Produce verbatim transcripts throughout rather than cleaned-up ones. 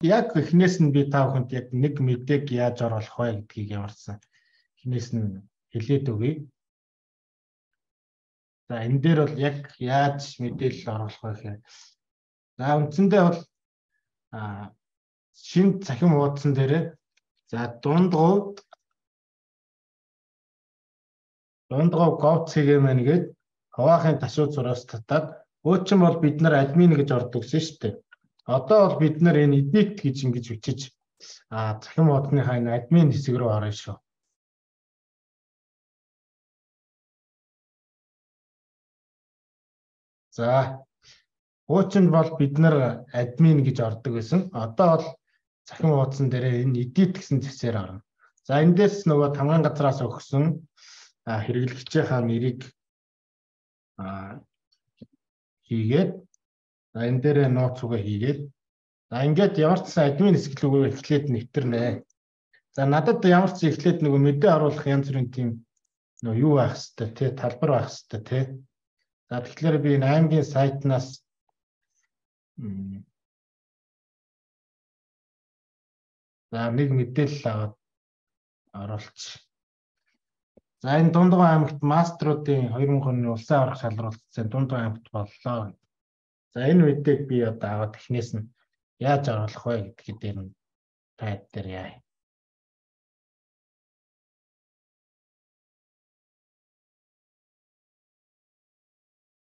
яг эхнээс нь би та бүхэнд яг нэг мэдээг яаж оруулах вэ гэдгийг ямарсан эхнээс нь хэлээд өгье. За энэ дээр бол яг яаж мэдээлэл оруулах вэ гэхээр за үндсэндээ бол а шинэ цахим хуудсан дээр за дундгов дундгов gov.cgmn гээд хаваахын ташуу зураас татаад өөчн бол бид нар админ гэж ордог гэсэн шүү дээ. Одоо бол бид нар энэ edit гэж ингэж бичиж а цахим хуудсныхаа энэ админ хэсэг рүү орно шүү. За өөчн бол бид нар админ гэж ордог байсан. Одоо бол цахим хуудсан дээр энэ edit гэсэн зэсээр орно. За эндээс нөгөө тамгын газраас өгсөн хэрэглэгчийнхаа нэрийг а хийгээд за энэ дээр нууц үгээ хийгээд за ингээд ямар ч сан админ хэсэг рүү эхлээд нэвтэрнэ. За надад ямар ч эхлээд нөгөө мэдээ оруулах янз бүрийн тийм нөгөө юу байх хэвээр тий талбар байх хэвээр тий. За тэгэхээр би энэ аймгийн сайтнаас за нэг мэдээлэл аваад оруулчих. За энэ Дундгой аймагт маструудын хоёр мянга оны улсын аврах шалралтын Дундгой аймагт боллоо. За энэ үедээ би одоо аваад эхнээс нь яаж оруулах вэ гэдгийг дээр нь тайд дээр яа.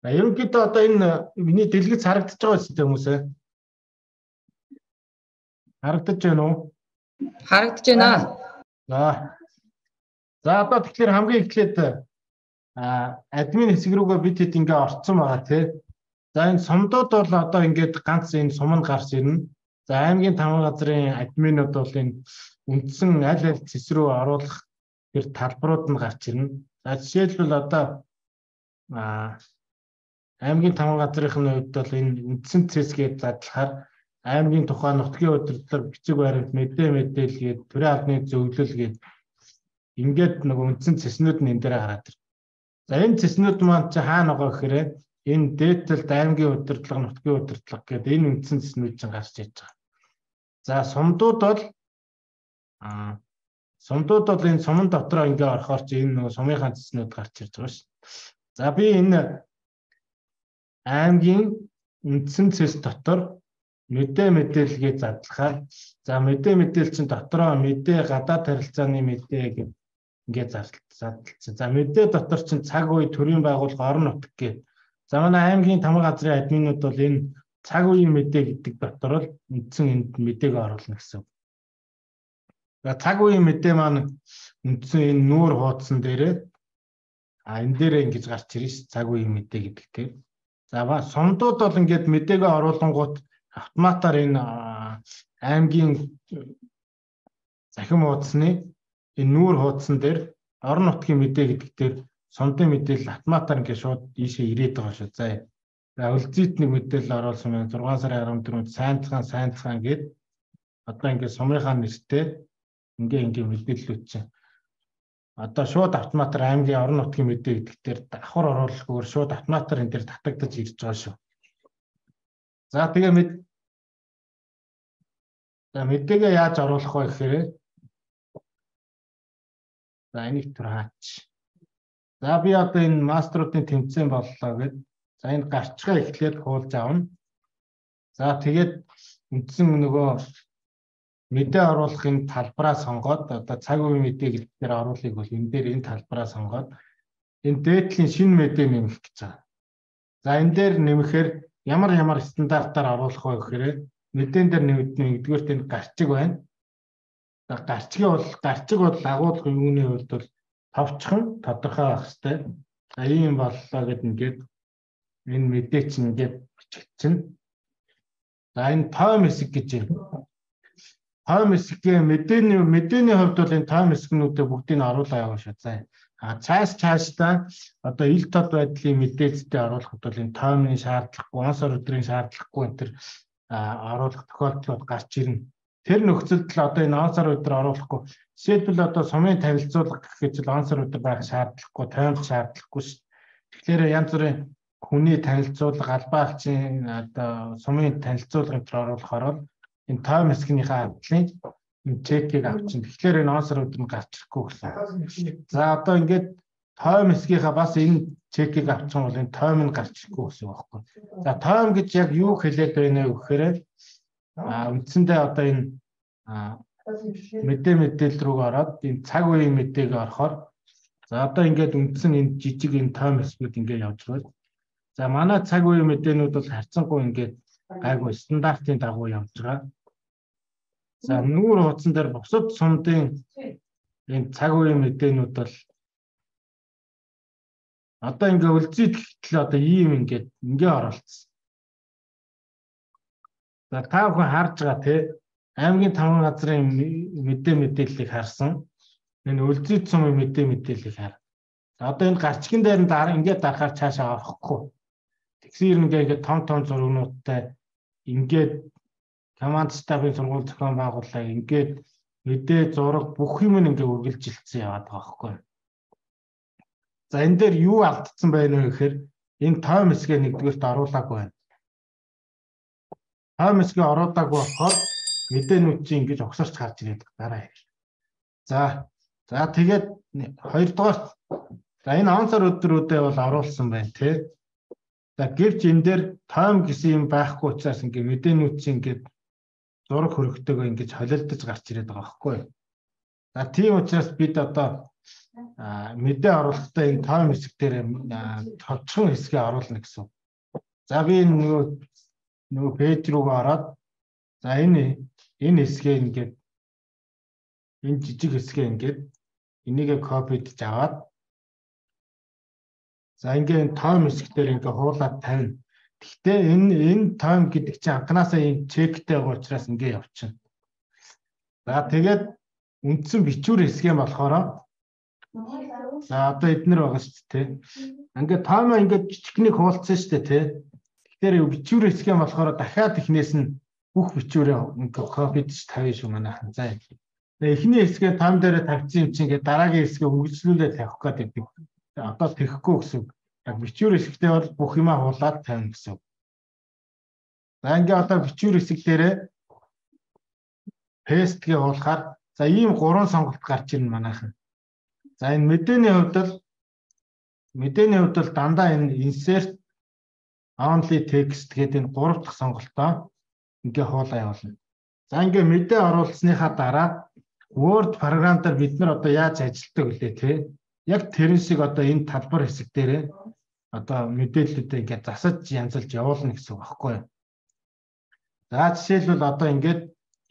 За ерөнхийдөө одоо энэ миний дэлгэц харагдаж байгаа үстэй хүмүүсээ. Харагдаж байна уу? Харагдаж байна. За. За одоо тэгэхээр хамгийн эхлээд а админ хэсэг рүүгээ бид хэд ингээ орцсон байгаа тий. За энэ сумдууд бол одоо ингээд ганц энэ сум нь гарч ирнэ. За аймгийн тамга газрын админууд бол энэ үндсэн аль аль зэс рүү оруулах тэр талбарууд нь гарч ирнэ. За жишээлбэл одоо а аймгийн тамга газрын хувьд бол энэ үндсэн цэсгээд задлахаар аймгийн тухай нутгийн удирдлага бичиг баримт мэдээ мэдээлгээд төрийн албаны зөвлөл гээд ингээд нэг үндсэн цэснүүд нь энэ дээр гараад ир. За энэ цэснүүд маань чи хаана байгаа гэхээр энэ дээдэлд аймгийн удирдлага, нутгийн удирдлага гэдэг энэ үндсэн цэснүүд чинь гарч иж байгаа. За сумдууд бол аа сумдууд бол энэ сумын дотроо ингээ орохоор чи энэ нэг сумынхаа цэснүүд гарч ирж байгаа шүү. За би энэ аймгийн үндсэн цэс дотор мэдээ мэдээлэлгээ задлахаар за мэдээ мэдээлэл чинь дотроо мэдээ гадаад харилцааны мэдээ гэдэг ингээд зарлалцсан. За мэдээ дотор чинь цаг үе төрийн байгууллага орон нутаг гэдэг. За манай аймгийн тамга газрын админууд бол энэ цаг үеийн мэдээ гэдэг дотор л үндсэн энд мэдээг оруулна гэсэн. За цаг үеийн мэдээ маань үндсэн энэ нүүр хуудсан дээрээ а энэ дээрээ ингэж гарч ирнэ ш цаг үеийн мэдээ гэдэг тийм. За сумдууд бол ингээд мэдээгээ оруулангууд автоматар энэ аймгийн захим хуудасны энэ нүүр хуудсан дээр орон нутгийн мэдээ гэдэг дээр сумдын мэдээлэл автоматар ингээд шууд ийшээ ирээд байгаа шүү. За үлзийт нэг мэдээлэл оруулсан байна. зургаан сарын арван дөрөвөнд сайнцхан сайнцхан гээд одоо ингээд сумынхаа нэртэй ингээ ингээ мэдээллүүд чинь одоо шууд автоматар аймгийн орон нутгийн мэдээ гэдэг дээр давхар оруулахгүйгээр шууд автоматар энэ дээр татагдаж ирж байгаа шүү. За тэгээ мэд за мэдээгээ яаж оруулах вэ гэхээр за энийг түр хаач. За би одоо энэ маструудын тэмцээн боллоо гэд за энэ гарчгаа эхлээд хуулж авна. За тэгээд үндсэн нөгөө мэдээ оруулахын талбараа сонгоод одоо цаг үеийн мэдээ гэдгээр оруулахыг бол энэ дээр энэ талбараа сонгоод энэ дээдлийн шинэ мэдээ нэмэх гэж байгаа. За энэ дээр нэмэхээр ямар ямар стандартаар оруулах вэ гэхээр мэдэн дээр нэмэгдэн нэгдүгээрт энэ гарчиг байна. За гарчиг бол гарчиг бол агуулгын юуны хувьд бол товчхон тодорхой байх хэрэгтэй. За ийм боллоо гэд ингээд энэ мэдээ чинь ингээд бичигдчихнэ. За энэ тойм хэсэг гэж байна. Тойм хэсгийн мэдээний мэдээний хувьд бол энэ тойм хэсгнүүдээ бүгдийг нь оруулаа яваа шүү. За а цааш цаашдаа одоо ил тод байдлын мэдээлэлтэй оруулахад бол энэ тоймны шаардлагагүй, онцор өдрийн шаардлагагүй энэ төр оруулах тохиолдлууд гарч ирнэ. Тэр нөхцөлд л одоо энэ онцор өдөр оруулахгүй. Жишээлбэл одоо сумын танилцуулга гэхэд л онцор өдөр байх шаардлагагүй, тоймч шаардлагагүй шүү. Тэгэхээр янз бүрийн хүний танилцуулга, албаагчийн одоо сумын танилцуулгын төр оруулахаар бол энэ time хэсгийнхаа хавдлын энэ чекийг авчин. Тэгэхээр энэ онсорууд нь гарч ирэхгүй гэсэн. За одоо ингээд time хэсгийнхаа бас энэ чекийг авчин бол энэ time нь гарч ирэхгүй гэсэн үг байхгүй. За time гэж яг юу хэлээд байна вэ гэхээр а үндсэндээ одоо энэ мэдээ мэдээлэл рүү ороод энэ цаг үеийн мэдээг орохоор за одоо ингээд үндсэн энэ жижиг энэ time хэсгүүд ингээд явж байна. За манай цаг үеийн мэдээнүүд бол харьцангуй ингээд гайгүй стандартын дагуу явж байгаа. За нүүр хуудсан дээр бусад сумдын энэ цаг үеийн мэдээнүүд бол одоо ингээ үлзийдэл одоо ийм ингээд ингээ оролцсон. За та бүхэн харж байгаа те аймгийн таван газрын мэдээ мэдээллийг харсан. Энэ үлзийд сумын мэдээ мэдээллийг хар. Одоо энэ гарчгийн дээр нь дараа ингээ дарахаар цаашаа орохгүй. Тэгсээр ингээ ингээ том том зургнуудтай ингээд команд стабын сургууль зохион байгууллаа ингээд мэдээ зураг бүх юм ингээ үргэлжилсэн яваад байгаа байхгүй. За энэ дээр юу алдсан байна вэ гэхээр энэ time хэсгээ нэгдүгээрт оруулаагүй байна. Time хэсгээ оруулаагүй болохоор мэдээнүүд чинь ингэж огсорч гарч ирээд дараа яг. За за тэгээд хоёрдугаар за энэ онцор өдрүүдэд бол оруулсан байна тий. За гэвч энэ дээр time гэсэн юм байхгүй учраас ингээ мэдээнүүд чинь ингээд зураг хөрөгтэйгөө ингэж холилдож гарч ирээд байгаа байхгүй. За тийм учраас бид одоо мэдээ оруулахдаа энэ time хэсэг дээр товчхон хэсгээ оруулна гэсэн. За би нөгөө нөгөө пэйж рүүгээ ороод за энэ энэ хэсгээ ингээд энэ жижиг хэсгээ ингээд энийгээ копидж аваад за ингээд time хэсэг дээр ингээд хуулаад тавина. Гэхдээ энэ энэ time гэдэг чинь анханасаа энэ чектэй байгаа учраас ингээд явчихна. За тэгээд үндсэн бичвэр хэсгээ болохоор за одоо эднэр байгаа шүү дээ. Ингээд таймаа ингээд жижигнийг хуулцсан шүү дээ тий. Тэгэхээр бичвэр хэсгээ болохоор дахиад эхнээс нь бүх бичвэрээ ингээд копидж тавья шүү манайхан. За эхний хэсгээ тайм дээр тавьсан юм чинь ингээд дараагийн хэсгээ үргэлжлүүлээд тавих гэдэг. Одоо тэхгүй гэсэн. Яг бичвэр хэсэгтээ бол бүх юмаа хуулаад тавина гэсэн. За ингээд одоо бичвэр хэсэг дээрээ пестгээ хуулахаар за ийм гурван сонголт гарч ирнэ манайхан. За энэ мэдээний хувьд л мэдээний хувьд л дандаа энэ insert only text гэдэг энэ гурав дахь сонголтоо ингээ хуулаа явуулна. За ингээ мэдээ оруулсныхаа дараа Word програм дээр бид нар одоо яаж ажилладаг вүлээ те. Яг тэрэн шиг одоо энэ талбар хэсэг дээрээ одоо мэдээллүүдээ ингээ засаж янзалж явуулна гэсэн үг байхгүй юу? За жишээлбэл одоо ингээд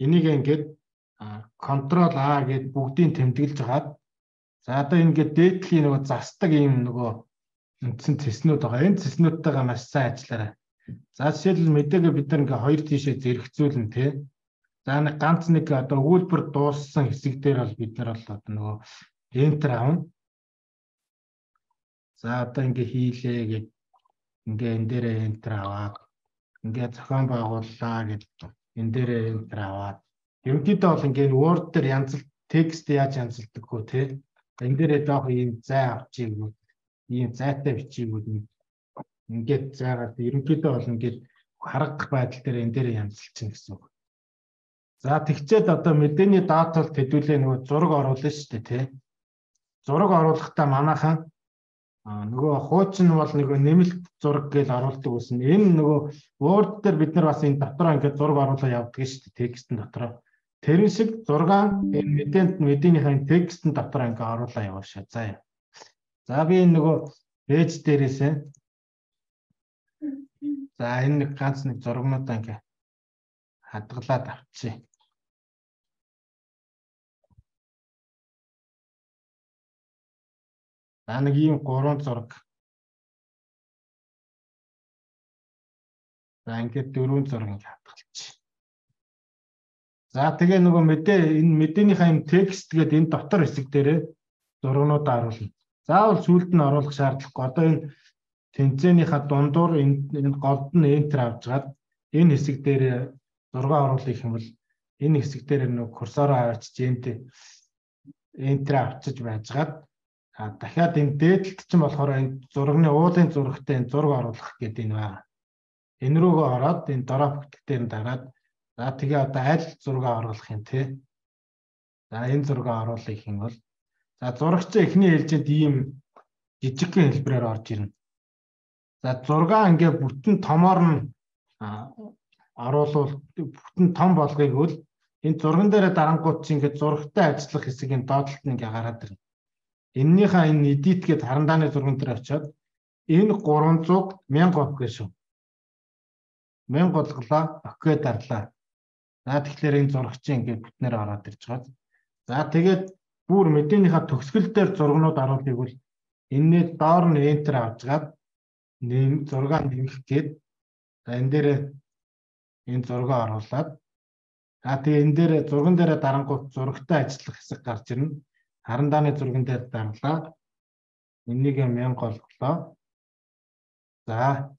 энийг ингээд Ctrl A гэдэг бүгдийг тэмдэглэж хагаад за одоо ингээд дээдлийн нөгөө засдаг юм нөгөө үндсэн цэснүүд байгаа. Энэ цэснүүдтэйгээ маш сайн ажиллаарай. За жишээлбэл мэдээгээ бид нар ингээд хоёр тийшээ зэрэгцүүлнэ тий. За нэг ганц нэг одоо өгүүлбэр дууссан хэсэг дээр бол бид нар бол одоо нөгөө enter авна. За одоо ингээд хийлээ гэд ингээд энэ дээрээ enter аваад ингээд зохион байгууллаа гэд энэ дээрээ enter аваад ерөнхийдөө бол ингээд Word дээр янзлт текст яаж янзалдаг хөө тий. Энэ дээрээ жоох ийм зай авчиг юм. Ийм зайтай бичигүүд ингээд зайгаад ерөнхийдөө бол ингээд харагдах байдал дээр энэ дээрээ янзалчихна гэсэн үг. За тэгчээд одоо мэдээний датал төдүүлээ нөгөө зураг оруулна шүү дээ тий. Зураг оруулахдаа манайхан нөгөө хуучин бол нөгөө нэмэлт зураг гэж оруулдаг гэсэн. Энэ нөгөө Word дээр бид нар бас энэ дотроо ингээд зураг оруулаа явдаг шүү дээ текстэн дотроо. Тэрэн шиг зураг энэ мэдээнд мэдээнийхээ текстэн дотроо ингээд оруулаа яваашаа. За. За би энэ нөгөө пэйж дээрээсээ за энэ нэг ганц нэг зургнуудаа ингээд хадгалаад авчи. За нэг ийм гурван зураг. За ингээд дөрвөн зураг ингээд хадгалчих. За тэгээ нөгөө мэдээ энэ мэдээнийхээ юм текст гэдэг энэ дотор хэсэг дээрээ зургнуудаа оруулна. Заавал сүүлд нь оруулах шаардлагагүй. Одоо энэ тэнцэнийхээ дундуур энэ голд нь enter авчгаад энэ хэсэг дээр зураг оруулах юм бол энэ хэсэг дээр нөгөө курсороо авчиж энд enter авчиж байжгаад дахиад энэ дээдлэлт чинь болохоор энэ зургийн уулын зурагтай энэ зураг оруулах гэдэг энэ байна. Энэ рүүгээ ороод энэ дороо бүтгтээр нь дараад За тэгээ одоо аль зураг оруулах юм те. За энэ зураг оруулах юм бол за зурагч эхний ээлжинд ийм жижигхэн хэлбэрээр орж ирнэ. За зураг ингээ бүтэн томоор нь оруулал бүтэн том болгоёг бол энэ зурган дээр дарангууд чинь ингээ зурагтай ажиллах хэсэг энэ доотлолт нь ингээ гараад ирнэ. Эннийхээ энэ edit гээд харандааны зурган дээр очиод энэ гурванзуг мянга болох гэсэн. мянга болголоо, окей дарлаа. За тэгэхээр энэ зурагчийн ингээ бүтнээр ороод ирж байгаа. За тэгээд бүр мэдээнийхээ төгсгөл дээр зургнууд оруулахыг бол энэний доор нь enter авчгаад нэм зураг нэмэх гээд за энэ дээр энэ зураг оруулаад за тэгээ энэ дээр зурган дээр дарангуут зурагтай ажиллах хэсэг гарч ирнэ. Харандааны зурган дээр дарлаа. Энийг мянга болголоо. За.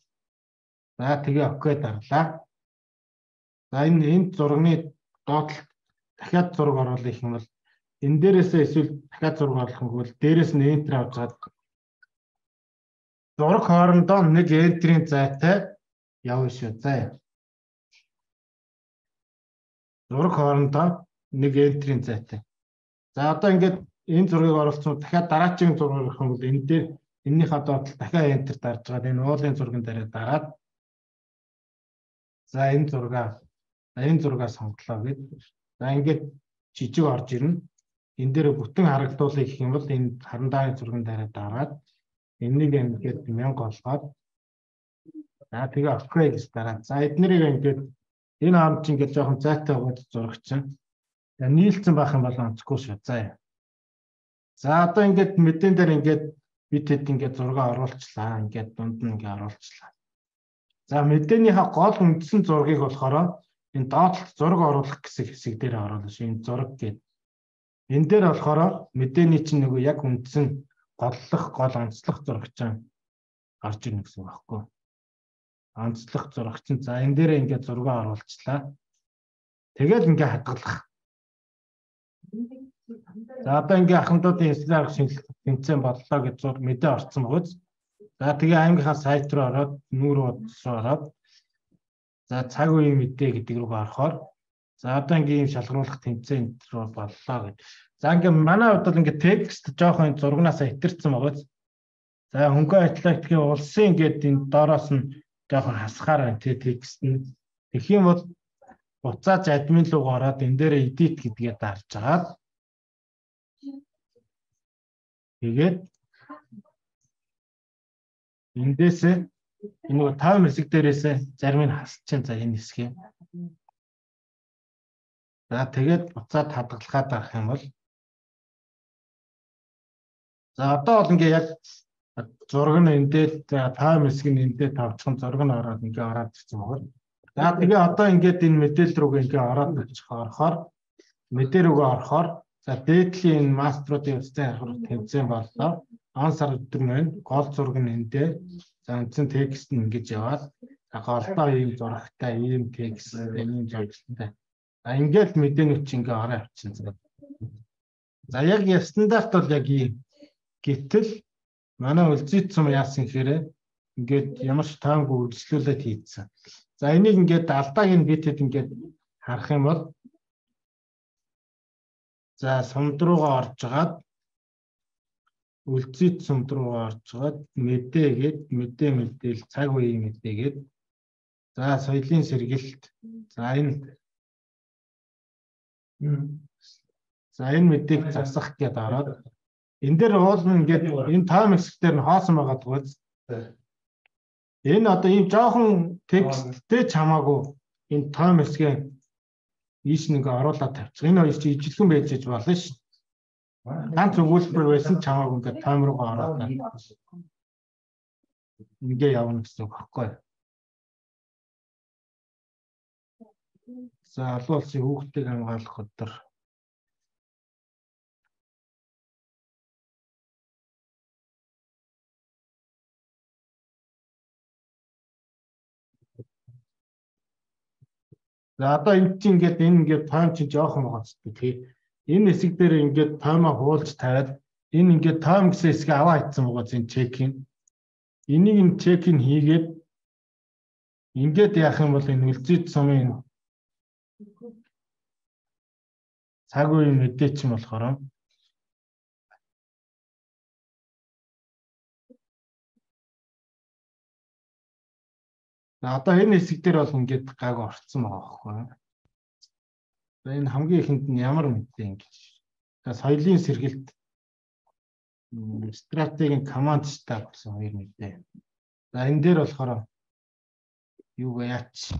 За тэгээ окей дарлаа. За энэ энэ зургийн доотлолт дахиад зураг оруулах юм бол энэ дээрээсээ эсвэл дахиад зураг оруулах юм бол дээрээс нь enter авчаад зураг хоорондоо нэг enter-ийн зайтай явна шүү. За. Зураг хоорондоо нэг enter-ийн зайтай. За одоо ингээд энэ зургийг оруулсан дахиад дараагийн зураг оруулах юм бол энэ дээр энэнийхээ доотлол дахиад enter дарж байгаа. Энэ уулын зурган дээр дараад за энэ зургаа энэ зургаа сонголоо гэд. За ингээд жижиг орж ирнэ. Энэ дээр бүтэн харагдуулъя гэх юм бол энэ харандааны зурган дээр дараад энийг ингээд мянга болгоод за тэгээ окей гэж дараа. За эднэрийг ингээд энэ харамт чинь ингээд жоохон зайтай байгаад зурагч чинь нийлцсэн байх юм бол онцгүй шүү. За. За одоо ингээд мэдэн дээр ингээд бид хэд ингээд зураг оруулчлаа. Ингээд дунд нь ингээд оруулчлаа. За мэдээнийхээ гол үндсэн зургийг болохоор энэ доотлолт зураг оруулах гэсэн хэсэг дээр оруулна шүү. Энэ зураг гэдэг. Энэ дээр болохоор мэдээний чинь нөгөө яг үндсэн голлох гол онцлог зурагч гарч ирнэ гэсэн үг байхгүй. Онцлог зурагч нь за энэ дээр ингээд зураг оруулчлаа. Тэгэл ингээд хадгалах. За одоо ингээ ахмадуудын эслэр арга шинжилгээ тэмцээн боллоо гэж зур мэдээ орсон бөгөөд за тэгээ аймгийнхаа сайт руу ороод нүүр удас руу ороод за цаг үеийн мэдээ гэдэг рүү орохоор за одоо ингээ ийм шалгаруулах тэмцээн рүү боллоо гэж. За ингээ манай хувьд бол ингээ текст жоохон зургнаас итэрсэн бөгөөд за хөнгөн атлетикийн улсын ингээд энэ доороос нь жоохон хасгаар байна те текст нь. Тэгэх юм бол буцааж админ руу ороод энэ дээр edit гэдгээ дарж агаад тэгээд эндээсээ энэ таван хэсэг дээрээсээ зарим нь хасчихын за энэ хэсгийг. За тэгээд буцаад хадгалахад авах юм бол за одоо бол ингээ яг зураг нь эндээ таван хэсэг нь эндээ тавчхан зураг нь ороод ингээ ороод ирсэн байна. За тэгээ одоо ингээд энэ мэдээлэл рүү ингээ ороод очих орохоор мэдээ рүүгээ орохоор за дээдлийн маструудын үстэй харах тэмцээн боллоо. Он сар өдөр маань гол зураг нь эндээ за үндсэн текст нь ингэж яваад за голдоо ийм зурагтай ийм текст ийм зурагтай. За ингээд мэдээнүүд чи ингээ ороо авчихсан. За яг стандарт бол яг ийм. Гэтэл манай үлзий цум яасан гэхээр ингээд ямар ч таамгүй үйлчлүүлээд хийцэн. За энийг ингээд алдааг нь бид хэд ингээд харах юм бол за сумд руугаа орж агаад үлзий сумд руугаа орж агаад мэдээгээд мэдээ мэдээл цаг үеийн мэдээгээд за соёлын сэргэлт за энэ за энэ мэдээг засах гэдээ ороод энэ дээр уулын ингээд энэ тайм хэсгээр нь хоосон байгаа төгөөд энэ одоо ийм жоохон тексттэй ч хамаагүй энэ тайм хэсгээ ийш нэг оруулаад тавьчих. Энэ хоёр чи ижилхэн байж иж болно ш. Ганц өгүүлбэр байсан ч хамаагүй ингээд тайм руугаа ороод ингээ явна гэсэн үг байхгүй. За олон улсын хүүхдийг хамгаалах өдөр за одоо энэ чинь ингээд энэ ингээд тайм чинь жоохон байгаа ч тий. Энэ хэсэг дээр ингээд таймаа хуулж тавиад энэ ингээд тайм гэсэн хэсгээ аваа хийсэн байгаа чинь чекин. Энийг нь чекин хийгээд ингээд яах юм бол энэ үлзий цомын цаг үеийн мэдээ чинь болохоор одоо энэ хэсэг дээр бол ингээд гайгүй орцсон байгаа байхгүй. За энэ хамгийн ихэнд нь ямар мэдээ ингэж. За соёлын сэргэлт стратегийн команд штаб гэсэн хоёр мэдээ. За энэ дээр болохоор юу яач.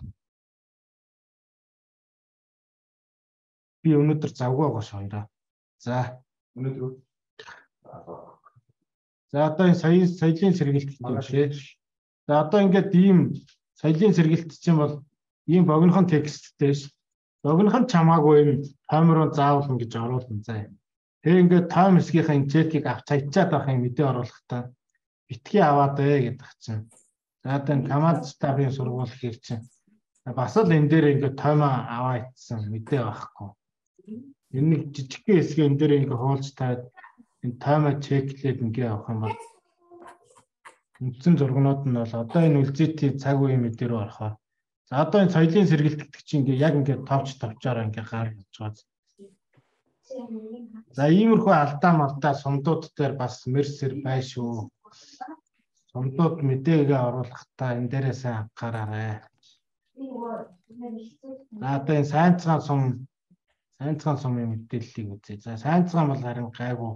Би өнөөдөр завгүй байгаа ш хоёроо. За өнөөдөр. За одоо энэ соёлын соёлын сэргэлт гэдэг. За одоо ингээд ийм соёлын сэргэлт чинь бол ийм богинохон тексттэй ш. Богинохон чамаагүй юм таймероо заавал ингэж оруулна заа. Тэгээ ингээд тайм хэсгийнхаа энэ чекийг авч хайчаад байх юм мэдээ оруулахдаа битгий аваад ээ гэдэг чинь. За одоо энэ команд стабын сургууль хийх чинь бас л энэ дээр ингээд таймаа аваа ицсэн мэдээ байхгүй. Энэ нэг жижигхэн хэсэг энэ дээр ингээд хуулж таад энэ таймаа чеклээд ингээд авах юм бол үндсэн зургнууд нь бол одоо энэ үлзийтэй цаг үеийн мэдээ рүү орохоор. За одоо энэ соёлын сэргэлт гэдэг чинь ингээд яг ингээд товч товчоор ингээд гар хийж байгаа. За иймэрхүү алдаа малдаа сумдууд дээр бас мерсер бай шүү. Сумдууд мэдээгээ оруулахдаа энэ дээрээ сайн анхаараарай. За одоо энэ сайнцгаан сум сайнцгаан сумын мэдээллийг үзье. За сайнцгаан бол харин гайгүй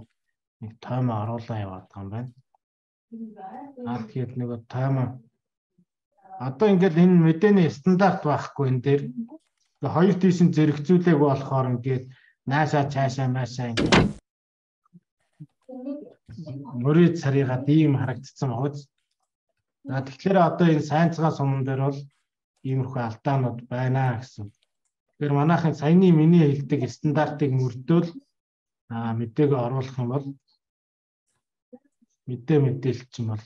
нэг таймаа оруулаа яваад байгаа юм байна. Аа тэгээд нэг таймаа одоо ингээд энэ мэдээний стандарт байхгүй энэ дээр хоёр тийш зэрэгцүүлээг болохоор ингээд наашаа цаашаа маашаа ингээд мөрөд царийгаад ийм харагдсан байгаа. За тэгэхээр одоо энэ сайнцгаан сумн дээр бол иймэрхүү алдаанууд байна гэсэн. Тэгэхээр манайхын саяны миний хэлдэг стандартыг мөрдөөл аа мэдээгээ оруулах юм бол мэдээ мэдээлч юм бол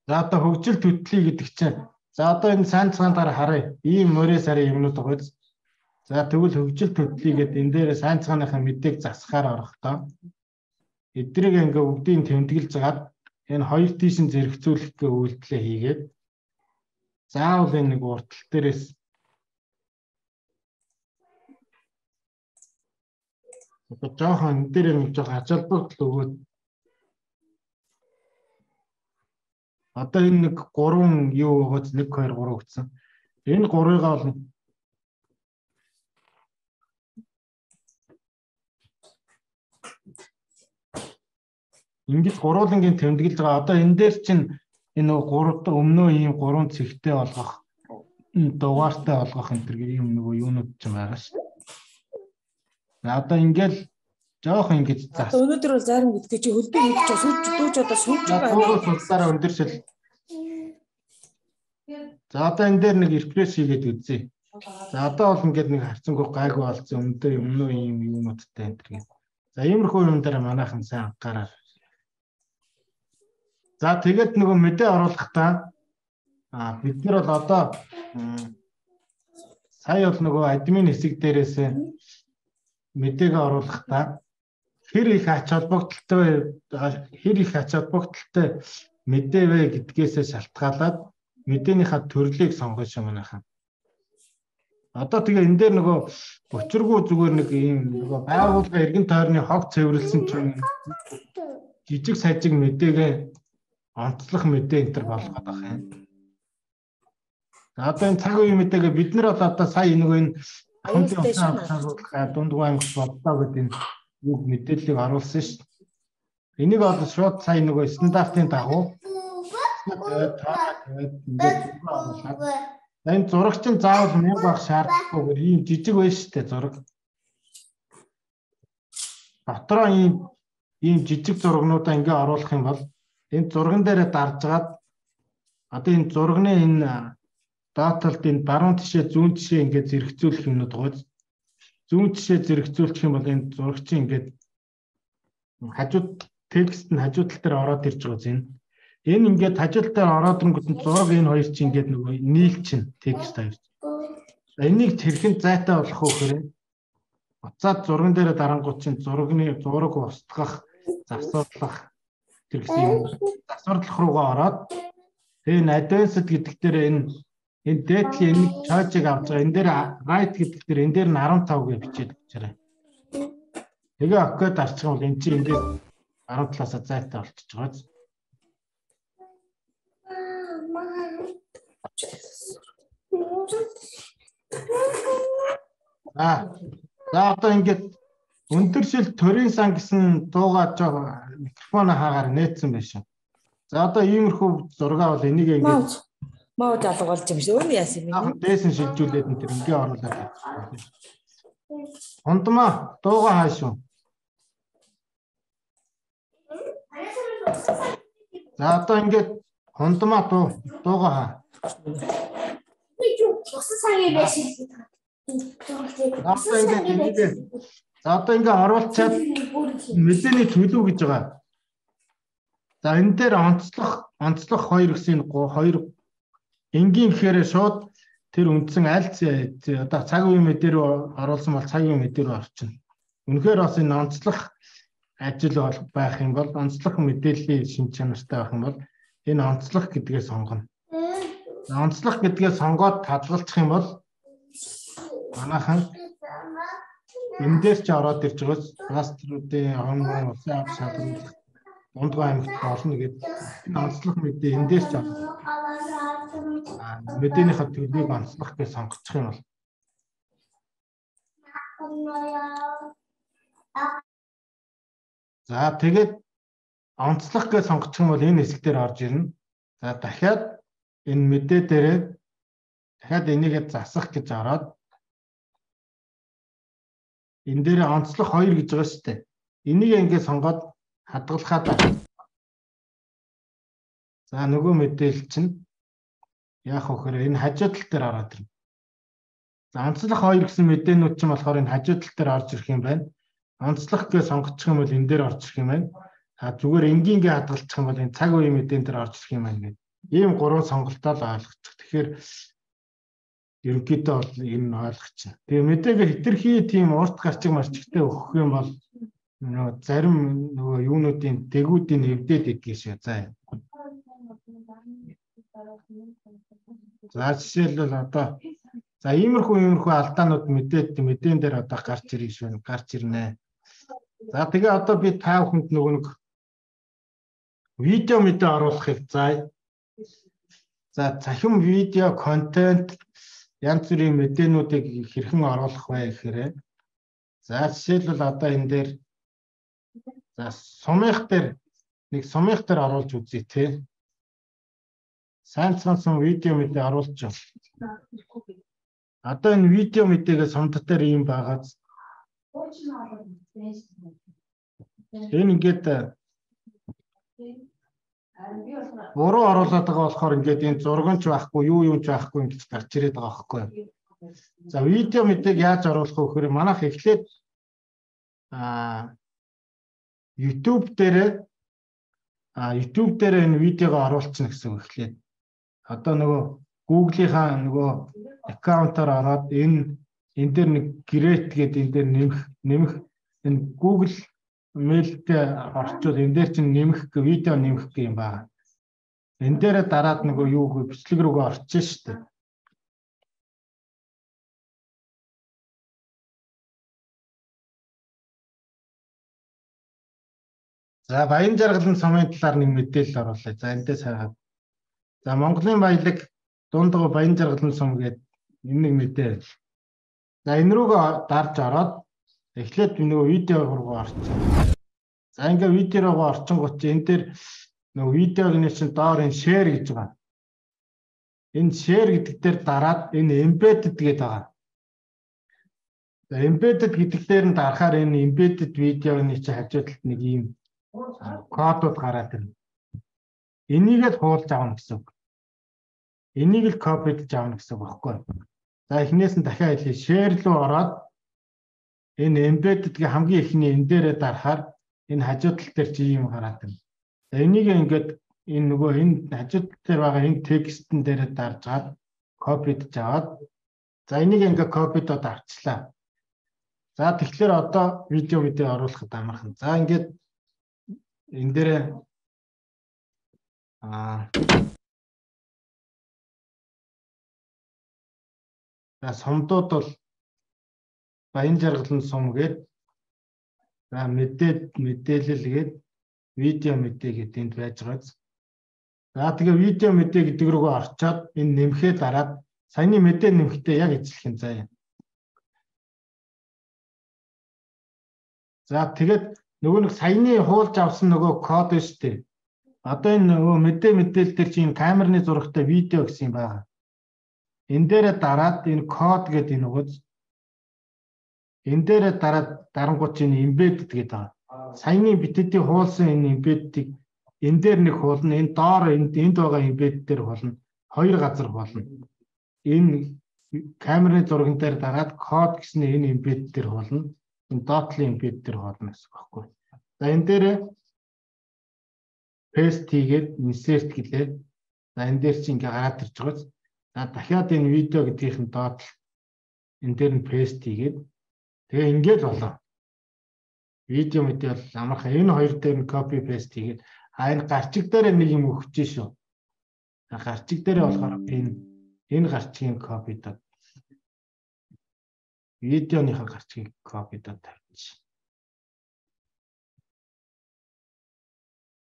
за одоо хөгжил төдлий гэдэг чинь за одоо энэ сайнцгаан дараа харъя. Ийм мөрөө сарын юмнууд байгаа. За тэгвэл хөгжил төдлий гэдэг энэ дээр сайнцгааныхаа мэдээг засахаар орохдоо эдрийг ингээ бүгдийг тэмдэглэж загаад энэ хоёр тийшин зэрэгцүүлэх гээ үйлдэлээ хийгээд заавал энэ нэг уртал дээрээс одоо жоохон энэ дээр нэг жоохон ачаалбагтал өгөөд одоо энэ нэг гурван юу өгөөд нэг хоёр гурав гэсэн. Энэ гурвыгаа бол ингэж гурвуулангийн тэмдэглэж байгаа. Одоо энэ дээр чинь энэ гурав дахь өмнөө ийм гурван цэгтэй болгох дугаартай болгох энэ төр ийм нөгөө юунууд ч байгаа шүү. Одоо ингээл жоохон ингэж зас. Өнөөдөр бол зарим гэдгээ чи хөлбөө хийж сууж дууж одоо сууж байгаа. Гурван судалаараа өндөршил. За одоо энэ дээр нэг рефреш хийгээд үзье. За одоо бол ингээд нэг харцангуй гайгүй болсон өмнөдөө өмнөө ийм юмудтай энэ төр. За иймэрхүү юм дээр манайхан сайн анхаараа. За тэгээд нөгөө мэдээ оруулахдаа а бид нар бол одоо сая бол нөгөө админ хэсэг дээрээс мэдээгээ оруулахдаа хэр их ач холбогдолтой хэр их ач холбогдолтой мэдээ вэ гэдгээсээ шалтгаалаад мэдээнийхээ төрлийг сонгож юмнахаа. Одоо тэгээ энэ дээр нөгөө учиргүй зүгээр нэг ийм нөгөө байгууллага эргэн тойрны хог цэвэрлсэн чинь жижиг сажиг мэдээгээ онцлох мэдээ энэ төр болгоод байгаа юм. За одоо энэ цаг үеийн мэдээгээ бид нар бол одоо сая нэг энэ хамтын усан хамгаалах дундгой аймагт боллоо гэдэг энэ үг мэдээллийг оруулсан шүү дээ. Энийг бол шууд сая нөгөө стандартын дагуу энэ зурагч нь заавал мянга байх шаардлагагүйгээр ийм жижиг байж штэ зураг. Дотроо ийм ийм жижиг зурагнуудаа ингээ оруулах юм бол энэ зурган дээр даржгаад одоо энэ зурганы энэ даталд энэ баруун тишээ зүүн тишээ ингээд зэрэгцүүлэх юмнууд байгаа. Зүүн тишээ зэрэгцүүлчих юм бол энэ зурагчийн ингээд хажууд текст нь хажуу тал дээр ороод ирж байгаа зэн. Энэ ингээд хажуу тал дээр ороод ирэнгүүт нь зураг энэ хоёр чинь ингээд нөгөө нийлчин текст хоёр. Энийг хэрхэн зайтай болох вэ гэхээр буцаад зурган дээр дарангууд чинь зургийн зураг устгах, засварлах тэр гэсэн засварлах руугаа ороод тэгээ advanced гэдэг дээр энэ Энэ дээдлийн нэг чойжийг авч байгаа. Энэ дээр right гэдэг дээр энэ дээр нь арван тав гэж бичээд өгчээрэй. Тэгээ окей дарчих юм бол эн чинь энэ дээр арван талаасаа зайтай болчихж байгаа. Аа. За одоо ингээд өндөршил төрийн сан гэсэн дуугаа жоо микрофон хаагаар нээсэн байх шүү. За одоо иймэрхүү зураг бол энийг ингээд маа залга болж юм шүү. Өөр яасан юм бэ? Дээсэн шилжүүлээд энэ төр ингээ оруулаад. Хондмаа дуугаа хаашуу. За одоо ингээд хондмаа дуу дуугаа хаа. За одоо ингээ оруулчаад мэдээний төлөв гэж байгаа. За энэ дээр онцлох онцлох хоёр гэсэн хоёр энгийн гэхээр шууд тэр үндсэн аль одоо цаг үеийн мэдээ рүү оруулсан бол цаг үеийн мэдээ рүү орчихно. Үнэхээр бас энэ онцлох ажил бол байх юм бол онцлох мэдээллийн шин чанартай байх юм бол энэ онцлох гэдгээ сонгоно. Онцлох гэдгээ сонгоод хадгалчих юм бол манайхан энэ дээр ч ороод ирж байгаас паструудын хонгон улсын авч шалгуулах Дундгой аймагт болно гэдэг энэ онцлог мэдээ энэ дээр ч мэдээнийхээ төлөвийг онцлох гэж сонгочих юм бол за тэгээд онцлох гэж сонгочих юм бол энэ хэсэг дээр орж ирнэ. За дахиад энэ мэдээ дээрээ дахиад энийгээ засах гэж ороод энэ дээр онцлох хоёр гэж байгаа шүү дээ. Энийг ингээд сонгоод хадгалахад за нөгөө мэдээлэл чинь яах вэ гэхээр энэ хажуу тал дээр ороод ирнэ. За онцлох хоёр гэсэн мэдээнүүд чинь болохоор энэ хажуу тал дээр орж ирэх юм байна. Онцлох гэж сонгочих юм бол энэ дээр орж ирэх юм байна. А зүгээр энгийнгээ хадгалчих юм бол энэ цаг үеийн мэдэн дээр орж ирэх юм байна гэдэг. Ийм гурван сонголтоо л ойлгочих. Тэгэхээр ерөнхийдөө бол энэ ойлгочих. Тэгээ мэдээгээ хитрхи тийм урт гарчиг марчигтай өгөх юм бол нөгөө зарим нөгөө юунуудын дэгүүдийн эвдээд идэх шүү. За. За жишээлбэл одоо за иймэрхүү иймэрхүү алдаанууд мэдээд мэдэн дээр одоо гарч ирэх шүү. Гарч ирнэ. За тэгээ одоо би та бүхэнд нөгөө нэг видео мэдээ оруулахыг за за цахим видео контент янз бүрийн мэдээнүүдийг хэрхэн оруулах вэ гэхээр за жишээлбэл одоо энэ дээр за сумынх дээр нэг сумынх дээр оруулж үзье те. Сайн цансан видео мэдээ оруулж байна. Одоо энэ видео мэдээгээ сумд дээр ийм байгаа. Энэ ингээд буруу оруулаад байгаа болохоор ингээд энэ зураг ч байхгүй юу юу ч байхгүй ингэж гарч ирээд байгаа байхгүй. За видео мэдээг яаж оруулах вэ гэхээр манайх эхлээд а YouTube дээр а YouTube дээр энэ видеогоо оруулчихна гэсэн үг эхлээд. Одоо нөгөө Google-ийнхаа нөгөө аккаунтаар ороод энэ энэ дээр нэг create гэдэг энэ дээр нэмэх нэмэх энэ Google мэйлдээ орчвол энэ дээр чинь нэмэх видео нэмэх гэх юм байна. Энэ дээр дараад нөгөө юу гэ бичлэг рүүгээ орчих шүү дээ. За баян жаргалын сумын талаар нэг мэдээлэл оруулъя. За эндээс хараад. За Монголын баялаг дундгой баян жаргалын сум гэдэг энэ нэг мэдээ. За энэ рүүгээ дарж ороод эхлээд нөгөө видео руу орчих. За ингээ видео руу орчингууд энэ дээр нөгөө видеогны чинь доор энэ share гэж байгаа. Энэ share гэдэг дээр дараад энэ embedded гэдэг байгаа. За embedded гэдэг дээр нь дарахаар энэ embedded видеогны чинь хажуу талд нэг ийм кодууд гараад ирнэ. Энийг л хуулж авна гэсэн үг. Энийг л копидж авна гэсэн үг байхгүй. За эхнээс нь дахиад хэлье. Share руу ороод энэ embedded-гийн хамгийн эхний энэ дээрээ дарахаар энэ хажуу тал дээр чи юм гараад ирнэ. За энийг ингээд энэ нөгөө энэ хажуу тал дээр байгаа энэ текстэн дээрээ дарж гад копидж аваад за энийг ингээд копидод авчлаа. За тэгэхээр одоо видео видео оруулахад амархан. За ингээд энэ дээр аа За сумдууд бол баян жаргалын сум гээд за мэдээ мэдээлэл гээд видео мэдээ гэдэг энд байж байгаа. За тэгээ видео мэдээ гэдэг рүүгээ орчоод энэ нэмэхээ дараад саяны мэдээ нэмэхдээ яг эзлэх юм заа. За тэгээд нөгөө нэг саяны хуулж авсан нөгөө код шүү дээ. Одоо энэ нөгөө мэдээ мэдээлэл дээр чинь камерны зурагтай видео гэсэн юм байна. Энэ дээрээ дараад энэ код гэдэг энэ үгіз энэ дээрээ дараад дарангууд чинь embedded гэдэг байгаа. Саяны битэдийн хуулсан энэ embedded-ийг энэ дээр нэг хуулна, энэ доор энд энд байгаа embedded дээр хуулна. Хоёр газар хуулна. Энэ камерны зурган дээр дараад код гэсэн энэ embedded дээр хуулна. Энэ dot-ийн embedded дээр хуулна гэсэн багхгүй. За энэ дээр paste хийгээд insert гэлээ. За энэ дээр чи ингээ гараад ирж байгааз. За дахиад энэ видео гэдгийнх нь доод энэ дээр нь paste хийгээд тэгээ ингээд болоо. Видео мэдээ бол амархан энэ хоёр дээр нь copy paste хийгээд а энэ гарчиг дээр нэг юм өгч шүү. Гарчиг дээр болохоор энэ энэ гарчгийн copy доо. Видеоныхаа гарчгийг copy доо тавьчих.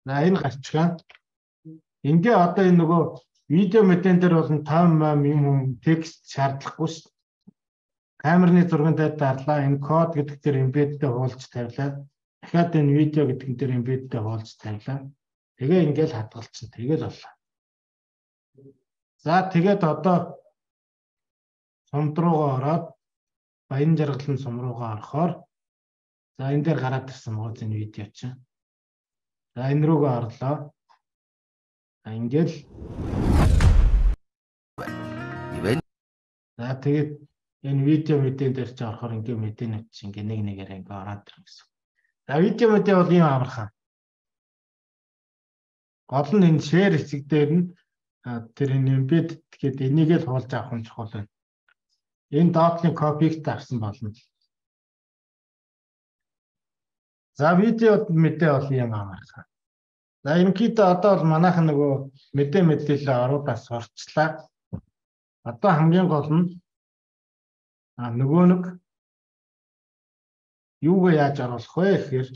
За энэ гарчгаа ингээ одоо энэ нөгөө видео мэдэн дээр бол таван юм текст шаардлагагүй шүү дээ. Камерны зурган дээр дарлаа энэ код гэдэг дээр embedded хуулж тавилаа. Дахиад энэ видео гэдэг дээр embedded хуулж тавилаа. Тэгээ ингээл хадгалчихсан. Тэгэл боллоо. За тэгээд одоо сумд руугаа ороод баян жаргалын сум руугаа орохоор за энэ дээр гараад ирсэн байгаа энэ видео чинь. За энэ рүүгээ орлоо. Ингээл за тэгээд энэ видео мэдэн дээр чи орохоор ингээ мэдэнэ чи ингээ нэг нэгээр ингээ ороод ирнэ гэсэн. За видео мэдээ бол ийм амархан. Гол нь энэ share хэсэг дээр нь тэр энэ embed гэдэг энийг л хуулж авах нь чухал байна. Энэ dot-ийн copy-г тавьсан болно. За видео мэдээ бол ийм амархан. За ерөнхийдөө одоо бол манайхан нөгөө мэдээ мэдээлэл оруулаас сурчлаа. Одоо хамгийн гол нь а нөгөө нэг юугаа яаж оруулах вэ гэхээр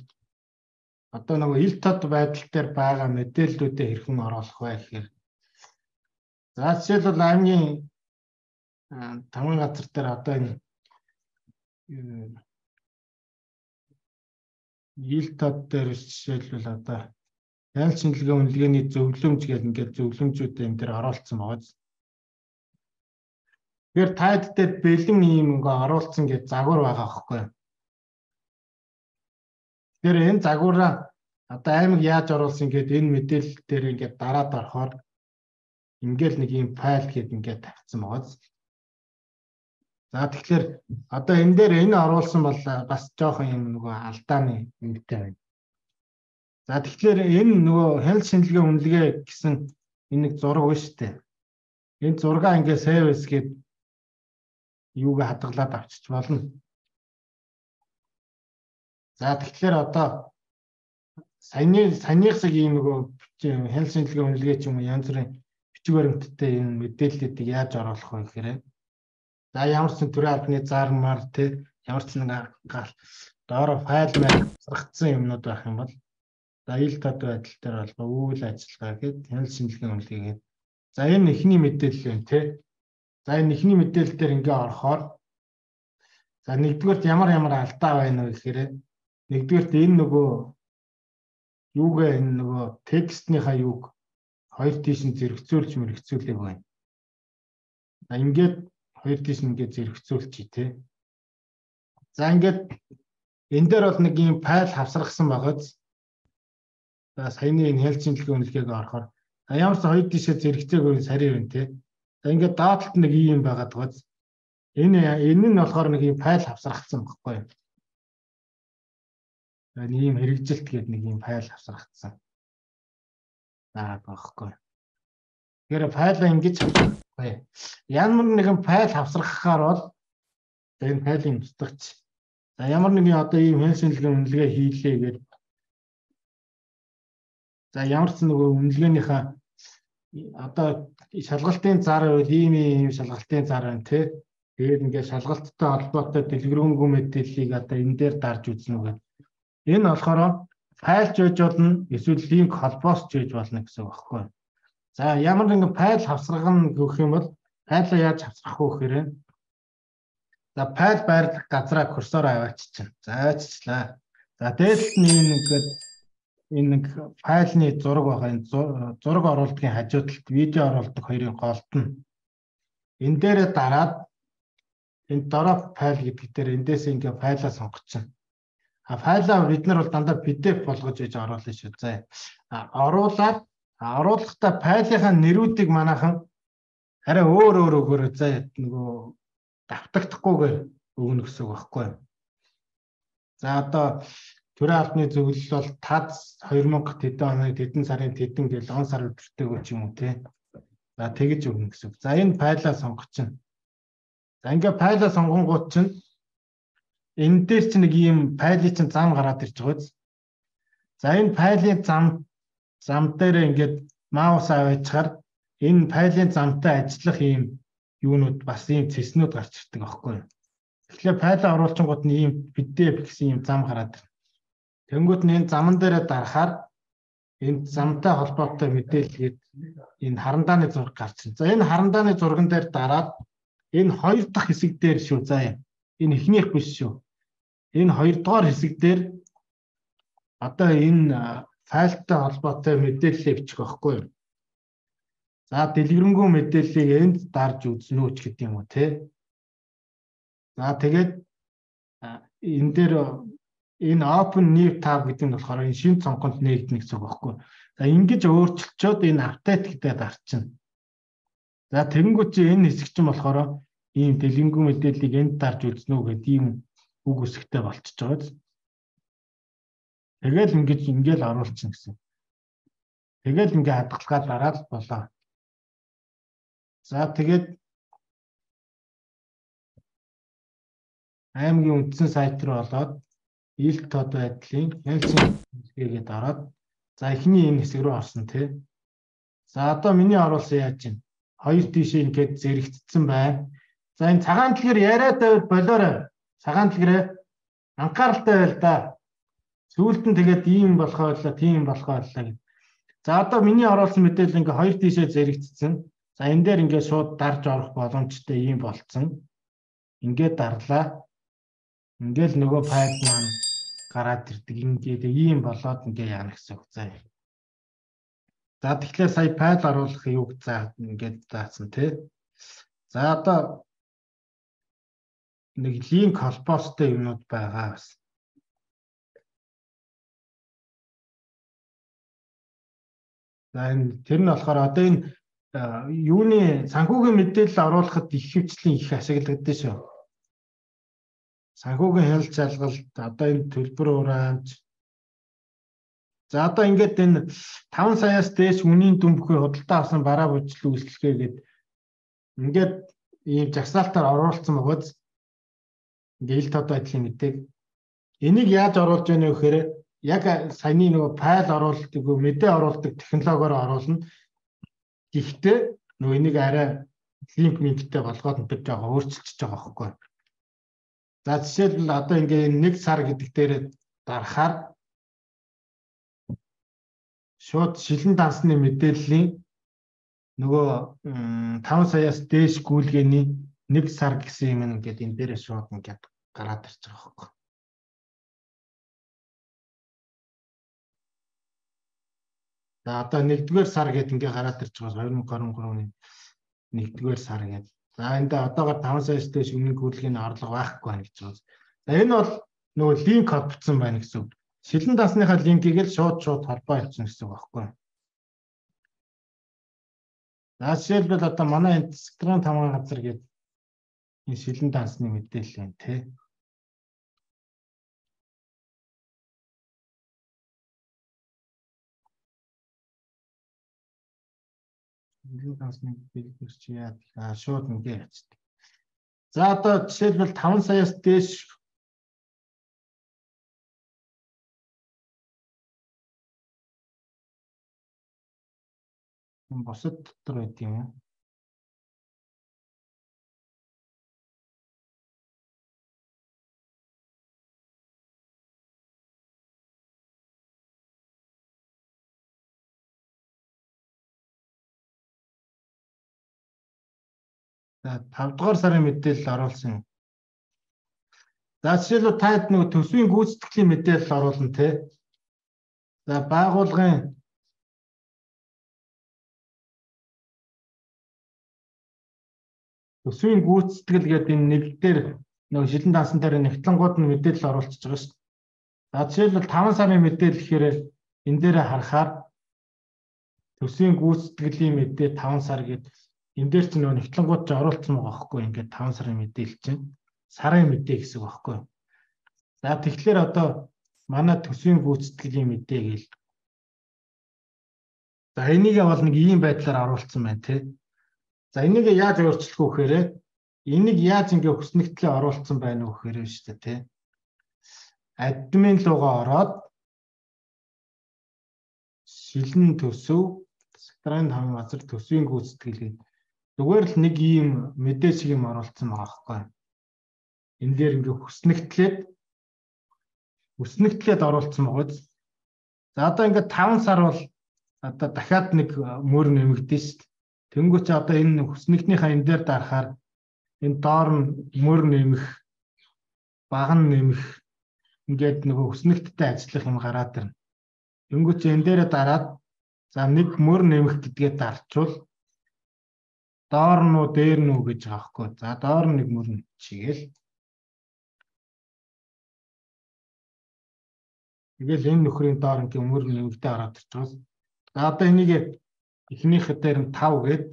одоо нөгөө ил тод байдал дээр байгаа мэдээллүүдээ хэрхэн оруулах вэ гэхээр за жишээлбэл аймгийн тамгын газар дээр одоо энэ ил тод дээр жишээлбэл одоо ял шинжилгээ үнэлгээний зөвлөмж гэдэг ингээд зөвлөмжүүд энэ дээр оруулсан байгаа. Тэгэхээр таад дээр бэлэн юм ингээ оруулсан гэж загвар байгаа байхгүй. Тэгэхээр энэ загвараа одоо аймаг яаж оруулсан гэдэг энэ мэдээлэл дээр ингээ дараад орохоор ингээл нэг юм файл гэдэг ингээ тавьсан байгаа. За тэгэхээр одоо энэ дээр энэ оруулсан бол бас жоохон юм нөгөө алдааны юмтай байна. За тэгэхээр энэ нөгөө хяналт шинжилгээ үнэлгээ гэсэн энэ нэг зураг байна шүү дээ. Энэ зургаа ингээ save гэд юугаа хадгалаад авчиж болно. За тэгэхээр одоо саяны саяныхсаг ийм нөгөө хяналт шинжилгээ үнэлгээ ч юм уу янз бүрийн бичиг баримттай энэ мэдээллүүдийг яаж оруулах вэ гэхээр за ямар ч төрлийн албаны зармаар те ямар ч нэг доороо файл маяг зарагдсан юмнууд байх юм бол за ил тод байдал дээр бол үйл ажиллагаа гэдэг хяналт шинжилгээ үнэлгээ гэдэг. За энэ эхний мэдээлэл юм те. За энэ эхний мэдээлэл дээр ингээ орохоор за нэгдүгээрт ямар ямар алдаа байна вэ гэхээр нэгдүгээрт энэ нөгөө юугаа энэ нөгөө текстнийхаа юуг хоёр тийш нь зэрэгцүүлж мэрэгцүүлэх байна. За ингээд хоёр тийш нь ингээ зэрэгцүүлчих тий. За ингээд энэ дээр бол нэг юм файл хавсрахсан байгааз за саяны энэ хяналт шинжилгээ үнэлгээг орохоор ямар ч хоёр тийшээ зэрэгцээгөө сарив байна тий. За ингээд доотлолт нэг юм байгаад байгааз энэ энэ нь болохоор нэг юм файл хавсрагдсан байхгүй юу? За нэг юм хэрэгжилт гэдэг нэг юм файл хавсрагдсан. За багхгүй. Тэгэхээр файлаа ингэж хавсрахгүй. Ямар нэгэн файл хавсрахаар бол энэ файлын устгаж. За ямар нэгэн одоо ийм хяналт шинжилгээ үнэлгээ хийлээ гэдэг. За ямар ч нөгөө үнэлгээнийхээ одоо шалгалтын зар байвал ийм ийм шалгалтын зар байна тий. Тэгээд ингээд шалгалттай холбоотой дэлгэрэнгүй мэдээллийг одоо энэ дээр дарж үзнэ үгээд. Энэ болохоор файлч байж болно, эсвэл линк холбоос ч байж болно гэсэн үг байхгүй. За ямар нэгэн файл хавсгах гэх юм бол файлаа яаж хавсгах вэ гэхээр за файл байрлах газраа курсороо авааччихна. За авааччлаа. За дээшлт нь энэ ингээд энэ нэг файлны зураг байгаа. Энэ зураг оруулалтын хажуу талд видео оруулдаг хоёрын голд нь. Энэ дээрээ дараад энэ дөрөв файл гэдэг дээр эндээс ингээ файлаа сонгочихно. А файлаа бид нар бол дандаа пи ди эф болгож иж оруулна шүү. За оруулаад оруулахдаа файлынхаа нэрүүдийг манайхан арай өөр өөр өгөөр за нөгөө давтагдахгүйгээр өгнө гэсэн үг байхгүй. За одоо төрийн албаны зөвлөл бол ТАЗ хоёр мянга тэдэн оны тэдэн сарын тэдэн гэл он сар өдөртэйгөө ч юм уу те. За тэгэж өгнө гэсэн үг. За энэ файлаа сонгочихно. За ингээ файлаа сонгонгууд чинь энэ дээр чинь нэг ийм файлын чинь зам гараад ирж байгаа биз. За энэ файлын зам зам дээр ингээд маус аваачаар энэ файлын замтай ажиллах ийм юунууд бас ийм цэснүүд гарч ирдэг аахгүй. Тэгэхээр файлаа оруулчингууд нь ийм пи ди эф гэсэн ийм зам гараад ирнэ. Тэнгүүд нь энэ заман дээрээ дарахаар энэ замтай холбоотой мэдээлэлгээд энэ харандааны зураг гарч ирнэ. За энэ харандааны зурган дээр дараад энэ хоёр дахь хэсэг дээр шүү. За энэ эхнийх биш шүү. Энэ хоёр дахь хэсэг дээр одоо энэ файлтай холбоотой мэдээлэл бичих байхгүй юу? За дэлгэрэнгүй мэдээллийг энд дарж үзнэ үү ч гэдэг юм уу те. За тэгээд энэ дээр энэ open new tab гэдэг нь болохоор энэ шинэ цонхонд нээгдэнэ гэсэн үг байхгүй юу? За ингэж өөрчилчөөд энэ update гэдэг дарчихна. За тэгэнгүүт чи энэ хэсэг чинь болохоор ийм дэлгэрэнгүй мэдээллийг энд дарж үзнэ үү гэдэг ийм үг үсгтэй болчихж байгаа. Тэгэл ингэж ингээл оруулчихна гэсэн. Тэгэл ингээ хадгалгаа дараад болоо. За тэгээд аймгийн үндсэн сайт руу олоод ил тод байдлын хэлсэн хэсгээд ороод за эхний энэ хэсэг рүү орсон тий. За одоо миний оруулсан яаж чинь хоёр тийшээ ингээд зэрэгцсэн байна. За энэ цагаан дэлгэр яриад байвал болоорой. Цагаан дэлгэрээ анхааралтай байл да. Сүүлд нь тэгээд ийм болохоо боллоо, тийм болохоо боллоо гэв. За одоо миний оруулсан мэдээлэл ингээ хоёр тийшээ зэрэгцсэн. За энэ дээр ингээ шууд дарж орох боломжтой ийм болцсон. Ингээд дарлаа. Ингээл нөгөө файл маань гараад ирдэг. Ингээд ийм болоод ингээ яана гэсэн үг заа. За тэгэхээр сая файл оруулах юуг заа ингээд заасан тий. За одоо нэг линк холбоостой юмнууд байгаа бас. За энэ тэр нь болохоор одоо энэ юуны санхүүгийн мэдээлэл оруулахад их хвцлийн их ашиглагддаг шүү. Санхүүгийн хяналт шалгалт одоо энэ төлбөр урамж. За одоо ингээд энэ таван саяас дээш үнийн дүн бүхий худалдаа авсан бараа бүжил үйлчлэгээ гээд ингээд ийм жагсаалтаар оруулсан бөгөөд ингээд ил тод байдлын мэдээг энийг яаж оруулж яана вэ гэхээр яг саяны нөгөө файл оруулдаг, мэдээ оруулдаг технологиор оруулна. Гэхдээ нөгөө энийг арай линк линктэй болгоод энэ жоохон өөрчилчихөж байгаа байхгүй. За жишээлбэл одоо ингээ нэг сар гэдэг дээр дарахаар шууд шилэн дансны мэдээллийн нөгөө таван саяас дээш гүйлгээний нэг сар гэсэн юм ингээд энэ дээрээ шууд ингээд гараад ирж байгаа байхгүй. За одоо нэгдүгээр сар гэдэг ингээ гараад ирж байгаа хоёр мянга гурван оны нэгдүгээр сар гэдэг. За энд одоогоор таван саяас дээш өмнө гүйлгээний орлого байхгүй байна гэж байна. За энэ бол нөгөө линк холбогдсон байна гэсэн үг. Шилэн дансныхаа линкийг л шууд шууд холбоо хийчихнэ гэсэн үг байхгүй. За жишээлбэл одоо манай энэ Строн тамган газар гэдэг энэ шилэн дансны мэдээлэл байна тий. Шилэн дансны мэдээлэл чи яа шууд ингээ ячдаг. За одоо жишээлбэл таван саяас дээш босод дотор байт юм уу? За тавд дугаар сарын мэдээлэл оруулсан. За жишээлбэл та хэд нэг төсвийн гүйцэтгэлийн мэдээлэл оруулна те. За байгууллагын төсвийн гүйцэтгэл гэдэг энэ нэг дээр нэг шилэн даасан дээр нэгтлэнгууд нь мэдээлэл оруулчихж байгаа шүү дээ. За жишээлбэл таван сарын мэдээлэл гэхээр энэ дээр харахаар төсвийн гүйцэтгэлийн мэдээ таван сар гэдэг энэ дээр чинь нөгөө нэгтлэнгууд ч оруулсан байгаа байхгүй ингээд таван сарын мэдээлэл чинь сарын мэдээ гэсэн үг байхгүй. За тэгэхээр одоо манай төсвийн гүйцэтгэлийн мэдээ гээл. За энийг бол нэг ийм байдлаар оруулсан байна тий. За энийг яаж өөрчлөх вэ гэхээр энийг яаж ингээ хүснэгтлээ оруулсан байна вэ гэхээр шүү дээ тий. Админ руугаа ороод шилэн төсөв сактрын таван газар төсвийн гүйцэтгэл гэдэг зүгээр л нэг ийм мэдээ шиг юм оруулсан байгаа байхгүй. Энэ дээр ингээ хүснэгтлээд хүснэгтлээд оруулсан байгаа. За одоо ингээ таван сар бол одоо дахиад нэг мөр нэмэгдэн шүү дээ. Тэнгүүч одоо энэ хүснэгтнийхээ энэ дээр дарахаар энэ доор нь мөр нэмэх, баг нь нэмэх ингээд нөгөө хүснэгттэй ажиллах юм гараад ирнэ. Тэнгүүч энэ дээрээ дараад за нэг мөр нэмэх гэдгээ дарчвал доор нь уу дээр нь үү гэж байгаа хгүй. За доор нь нэг мөр чигээл. Тэгэл энэ нөхрийн доор ингээ мөр нэмэгдээ ороод ирчихвал за одоо энийг эхнийх дээр нь тав гээд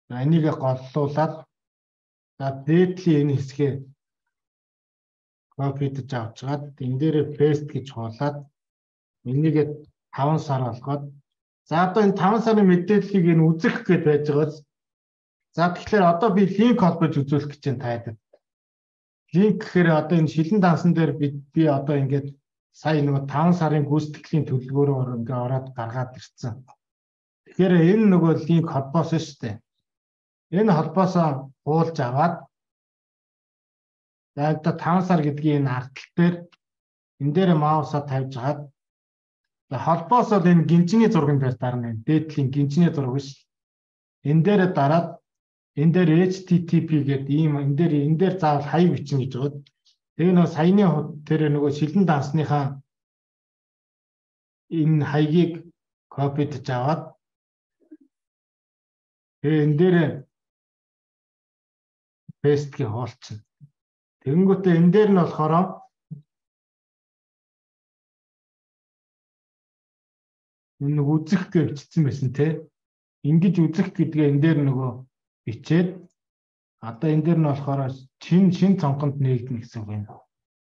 за энийг голлуулаад за дээдлийн энэ хэсгээ копидж авчгаад энэ дээрээ paste гэж хуулаад энийг таван сар болгоод за одоо энэ таван сарын мэдээллийг энэ үзэх гээд байж байгаа. За тэгэхээр одоо би линк холбож үзүүлэх гэж байна таад. Линк гэхээр одоо энэ шилэн дансан дээр би би одоо ингээд сая нөгөө таван сарын гүйцэтгэлийн төлөвлөгөөрөөр ингээ ороод гаргаад ирсэн. Тэгэхээр энэ нөгөө линк холбоос шүү дээ. Энэ холбоосоо хуулж аваад за одоо таван сар гэдгийн энэ ардтал дээр энэ дээр маусаа тавьж хагаад холбоос бол энэ гинжний зурган дээр дарна. Дээдлийн гинжний зураг биш. Энэ дээр дараад энэ дээр эйч ти ти пи гэдэг ийм энэ дээр энэ дээр заавал хаяг бичнэ гэж байгаа. Тэгээ нөгөө саяны тэр нөгөө шилэн дансныхаа энэ хаягийг копидж аваад тэгээ энэ дээр пестки хоолчихно. Тэгэнгүүтээ энэ дээр нь болохоор энэ үзэх гэж бичсэн байсан те. Ингэж үзэх гэдгээ энэ дээр нөгөө бичээд одоо энэ дээр нь болохоор чин шин цонхонд нээгдэнэ гэсэн үг юм.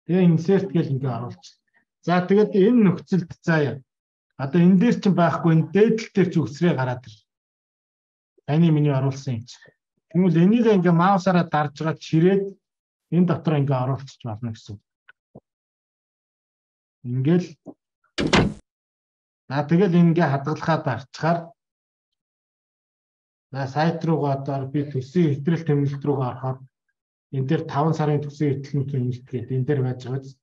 Тэгээ insert гэж ингээ оруулчих. За тэгээд энэ нөхцөлд заа. Одоо энэ дээр чинь байхгүй энэ дээдл дээр ч үсрээ гараад ир. Таны миний оруулсан юм чи. Тэгвэл энийг ингээ маусаараа дарж байгаа чирээд энэ дотор ингээ оруулчих болно гэсэн. Ингээл за тэгэл ингээ хадгалахаа дарчгаар за сайт руугаа одоо би төсвийн хэтрэл тэмнэлт рүүгээ орохоор энэ дээр таван сарын төсвийн хэтрэл тэмнэлт гэдэг энэ дээр байж байгаа.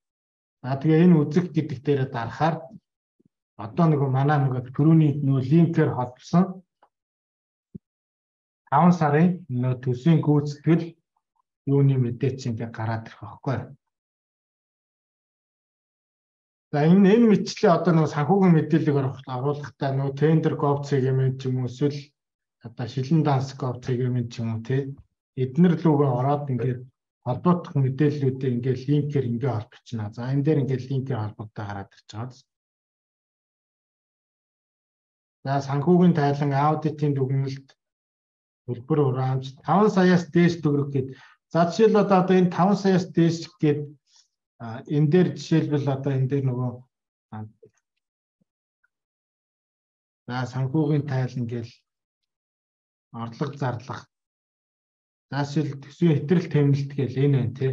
За тэгээ энэ үзэх гэдэг дээрээ дарахаар одоо нөгөө манай нөгөө түрүүний нөгөө линкээр холбосон таван сарын нөгөө төсвийн гүйцэтгэл юуны мэдээ чинь ингээ гараад ирэх байхгүй. За энэ энэ мэтчлээ одоо нөгөө санхүүгийн мэдээллийг оруулахдаа нөгөө тендер gov сегмент ч юм уу эсвэл одоо шилэн данс gov сегмент ч юм уу тий эднэр лүүгээ ороод ингээд холбогдох мэдээллүүдээ ингээд линкээр ингээ холбогчно. За энэ дээр ингээд линкээр холбогдоо гараад ирж байгаа. За санхүүгийн тайлан аудитын дүгнэлт төлбөр хураамж таван саяас дээш төгрөг гэдэг. За жишээл одоо энэ таван саяас дээш гэдэг энэ дээр жишээлбэл одоо энэ дээр нөгөө за санхүүгийн тайлан гээл орлого зарлах. За жишээл төсвийн хэтрэл тэмнэлт гээл энэ байна тий.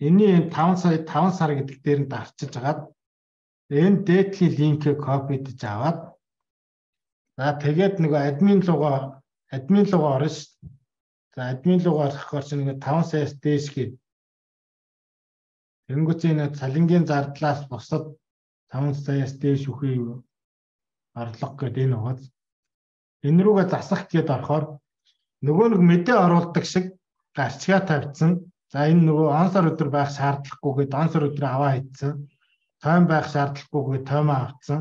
Энийн таван сая таван сар гэдэг дээр нь дарчиж агаад энэ дээдлийн линкийг копидж аваад за тэгээд нөгөө админ руугаа админ руугаа орно шүү. За админ руугаа орохоор чинь нөгөө таван саяас дээш гэдэг. Тэнгүүцээ энэ цалингийн зардлаас бусад таван саяас дээш үхий орлого гэдэг энэ угаас. энэ рүүгээ засах гээд орохоор нөгөө нэг мэдээ оруулдаг шиг гарчгаа тавьсан. За энэ нөгөө онсор өдөр байх шаардлагагүйгээд онсор өдөр аваа хийсэн. Тойм байх шаардлагагүйгээд тоймоо авцсан.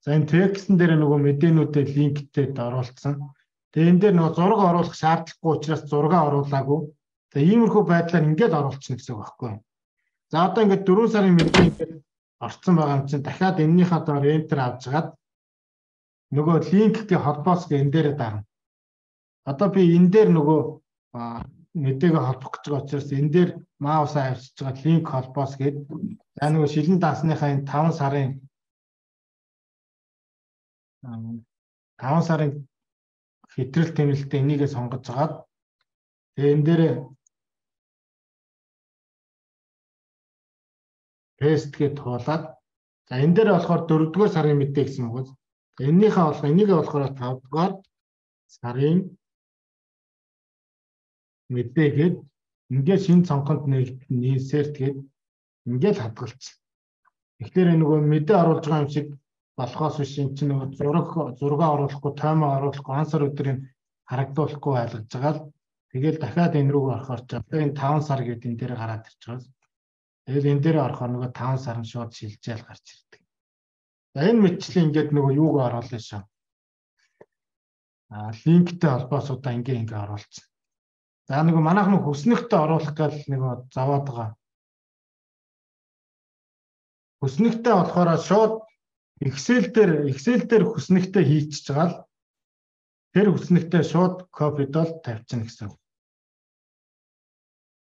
За энэ текстэн дээр нөгөө мэдээнүүдэд линктэй оруулсан. Тэгээ энэ дээр нөгөө зураг оруулах шаардлагагүй учраас зураг оруулаагүй. Тэгээ иймэрхүү байдлаар ингээд оруулчихна гэсэн үг байхгүй юу? За одоо ингээд дөрвөн сарын мэдээ ингээд орцсон байгаа юм чинь дахиад энэнийхээ доор enter авчгаад нөгөө линктэй холбоос гэ энэ дээр дарна. Одоо би энэ дээр нөгөө мэдээгээ холбох гэж байгаа учраас энэ дээр маусаа авчиж байгаа линк холбоос гээд за нөгөө шилэн дансныхаа энэ таван сарын таван сарын хэтрэл тэмэлтэ энийгээ сонгож агаад тэгээ энэ дээр paste гэж туулаад за энэ дээр болохоор дөрөвдүгээр сарын мэдээ гэсэн үг. Эннийхээ болох энийгээ болохоор тавдугаар сарын мэдээгээд ингээд шинэ цонхонд нийсэрт гээд ингээд хадгалсан. Тэгэхээр нөгөө мэдээ оруулж байгаа юм шиг болохоос биш энэ чинь нөгөө зураг зураг оруулахгүй, таймаа оруулахгүй, ансар өдрийг харагдуулахгүй байлгаж байгаа л тэгэл дахиад энэ рүү орохоор ч одоо энэ таван сар гэдэг энэ дээр гараад ирж байгаа. Тэгэл энэ дээр орохоор нөгөө таван сар нь шууд шилжээл гарч ирдэг. За энэ мэтчлийн ингээд нөгөө юуг оруулаа шээ. Аа линктэй холбоосуудаа ингээ ингээ оруулсан. За нөгөө манайх нөгөө хүснэгтээ оруулах гал нөгөө заваад байгаа. Хүснэгтээ болохоор шууд Excel дээр Excel дээр хүснэгтээ хийчихэж байгаа л тэр хүснэгтээ шууд копидол тавьчихна гэсэн.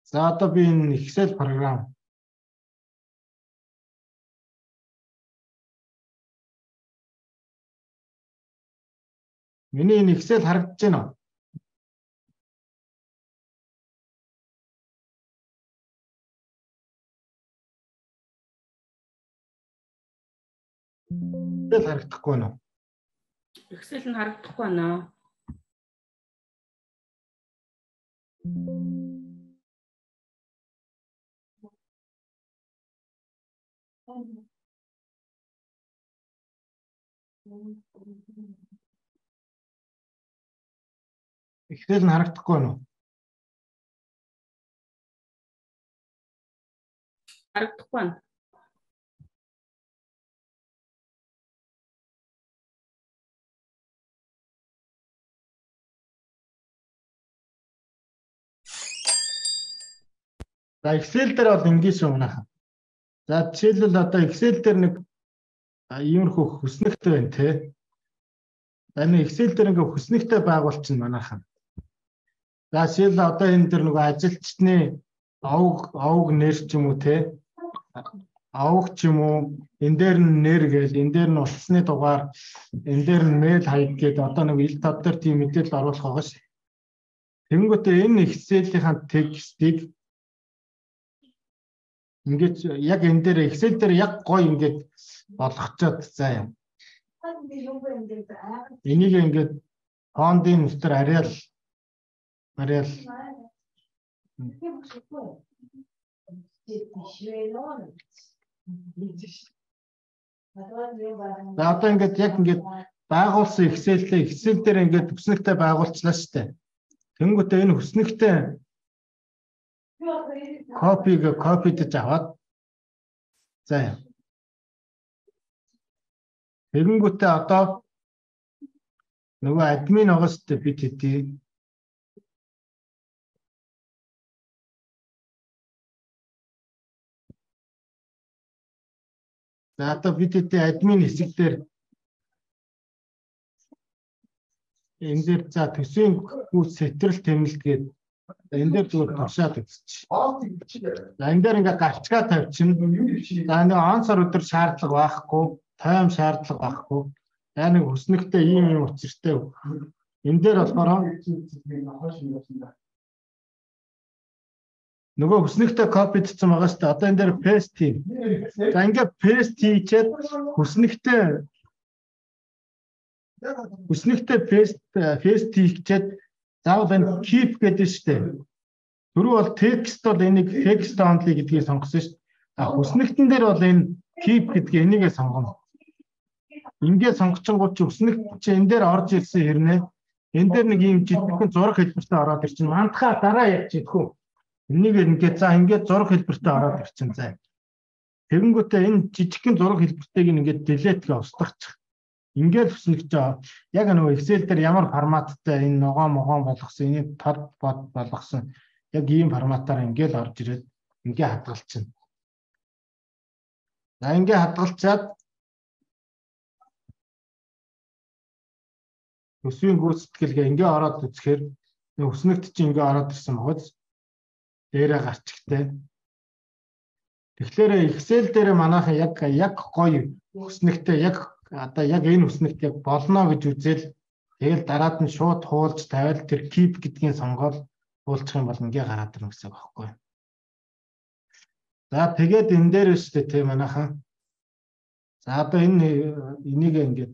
За одоо би энэ Excel програм Миний энэ Excel харагдаж байна уу? Excel харагдахгүй байна уу? Excel нь харагдахгүй байна. Excel нь харагдахгүй байна уу? Харагдахгүй байна. За Excel дээр бол ингэ шүү манайха. За жишээлбэл одоо Excel дээр нэг иймэрхүү хүснэгтэй байна те. За энэ Excel дээр ингээ хүснэгтэй байгуулчихна манайха. За жишээл одоо энэ дээр нөгөө ажилчны авг авг нэр ч юм уу те. Авг ч юм уу энэ дээр нь нэр гээл энэ дээр нь утасны дугаар энэ дээр нь мэйл хаяг гээд одоо нэг ил тод дээр тийм мэдээлэл оруулах байгаа ш. Тэнгүүтээ энэ Excel-ийн текстийг ингээд яг энэ дээр Excel дээр яг гоё ингээд болгочоод заа юм. Энийг ингээд фондын нутгаар ариал ариал За одоо ингээд яг ингээд байгуулсан Excel-ээ Excel дээр ингээд хүснэгтэй байгуулчлаа шүү дээ. Тэнгүүтээ энэ хүснэгтэй копиг копидж аваад за тэгэнгүүтээ одоо нөгөө админ байгаа шүү дээ бид хэдий за одоо бид хэдий админ хэсэг дээр энэ дээр за төсвийн хүүс сэтрэл тэмэлт гээд энэ дээр зүгээр тушаад үзчих. За энэ дээр ингээ гарчгаа тавьчихна. За нэг онцор өдөр шаардлага байхгүй, тайм шаардлага байхгүй. За нэг хүснэгтэй ийм юм учиртай. Энэ дээр болохоор нөгөө хүснэгтэй копидсан байгаа шүү дээ. Одоо энэ дээр paste хий. За ингээ paste хийчихэд хүснэгтэй хүснэгтэй paste paste хийчихэд заавал энэ keep гэдэг шүү дээ. Түрүү бол text бол энийг text only гэдгийг сонгосон шүү дээ. А хүснэгтэн дээр бол энэ keep гэдгийг энийгээ сонгоно. Ингээд сонгочингууд ч хүснэгт чи энэ дээр орж ирсэн хэрнээ энэ дээр нэг юм жижигхэн зураг хэлбэртэй ороод ирчин. Мандахаа дараа яг жидхүү. Энийг ингээд за ингээд зураг хэлбэртэй ороод ирчин заа. Тэгэнгүүтээ энэ жижигхэн зураг хэлбэртэйг ингээд delete-гээ устгачих. Ингээд хүснэгч яг нөгөө Excel дээр ямар форматтай энэ ногоо могоон болгосон, энийг тод бод болгосон яг ийм форматаар ингээд орж ирээд ингээд хадгалчихна. За ингээд хадгалчаад өсвийн гүйцэтгэлгээ ингээд ороод үзэхээр өснөгт чинь ингээд ороод ирсэн багц дээрээ гарчигтай. Тэгэхээр Excel дээр манайхан яг яг гоё өснөгтэй яг одоо яг энэ өснөгт яг болно гэж үзэл тэгэл дараад нь шууд хуулж тавиал тэр keep гэдгийг сонгоод хуулчих юм бол ингээ гараад ирнэ гэсэн үг байхгүй. За тэгээд энэ дээр өстэй те манайхан. За одоо энэ энийг ингээд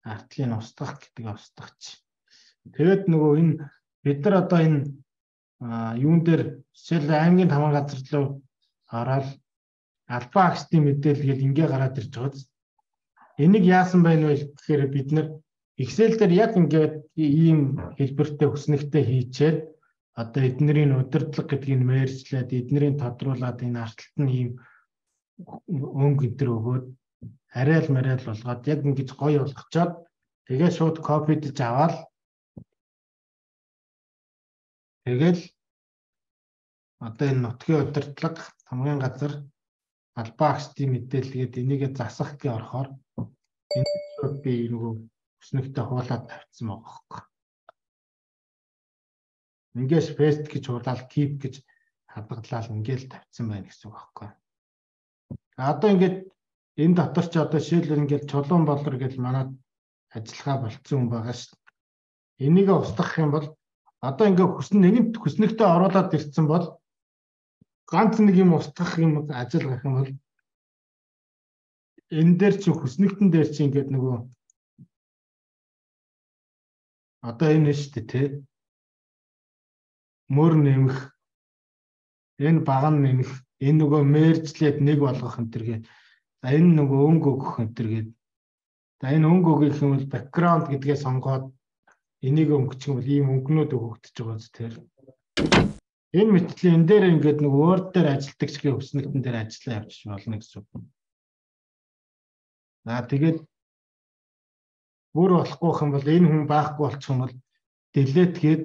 артлыг устгах гэдгийг устгахч. Тэгээд нөгөө энэ бид нар одоо энэ юун дээр жишээл аймгийн тамга газар руу ороод албаа агчдын мэдээлэл гээд ингээ гараад ирж байгаа. Энийг яасан байна вэ гэхээр бид нэр Excel дээр яг ингээд ийм хэлбэртэй өснөгтэй хийчээд одоо эднэрийн удирдлага гэдгийг мэржлээд эднэрийн тодруулаад энэ арталт нь ийм өнгө энэ төр өгөөд арай л марайл болгоод яг ингэж гоё болгочоод тэгээ шууд копидж аваад тэгэл одоо энэ нутгийн удирдлага хамгийн газар албаа агчдын мэдээлэлгээд энийгээ засах гэж орохоор энэ шууд би нөгөө өснөгтэй хуулаад тавьчихсан байгаа байхгүй. Ингээс paste гэж хуулаад keep гэж хадгалаад ингээл тавьчихсан байна гэсэн үг байхгүй. Одоо ингээд энэ дотор ч одоо шийдэл ингээд чулуун болор гэж манад ажиллагаа болцсон юм байгаа шүү дээ. Энийгээ устгах юм бол одоо ингээд хүснэ нэгэнт хүснэгтээ оруулаад ирсэн бол ганц нэг юм устгах юм ажил гарах юм бол энэ дээр чи хүснэгтэн дээр чи ингээд нөгөө одоо энэ шүү дээ тий мөр нэмэх энэ баг нь нэмэх энэ нөгөө мэржлээд нэг болгох энэ төргээ за энэ нөгөө өнгө өгөх энэ төргээд за энэ өнгө өгөх юм бол background гэдгээ сонгоод энийг өнгөчих юм бол ийм өнгөнүүд өгөгдөж байгаа зү тэр энэ мэтлийн энэ дээр ингээд нэг Word дээр ажилтдаг чигээ өснөгтөн дээр ажиллаа явчих болно гэсэн үг. За тэгээд бүр болохгүй юм бол энэ хүн байхгүй болчих юм бол delete гээд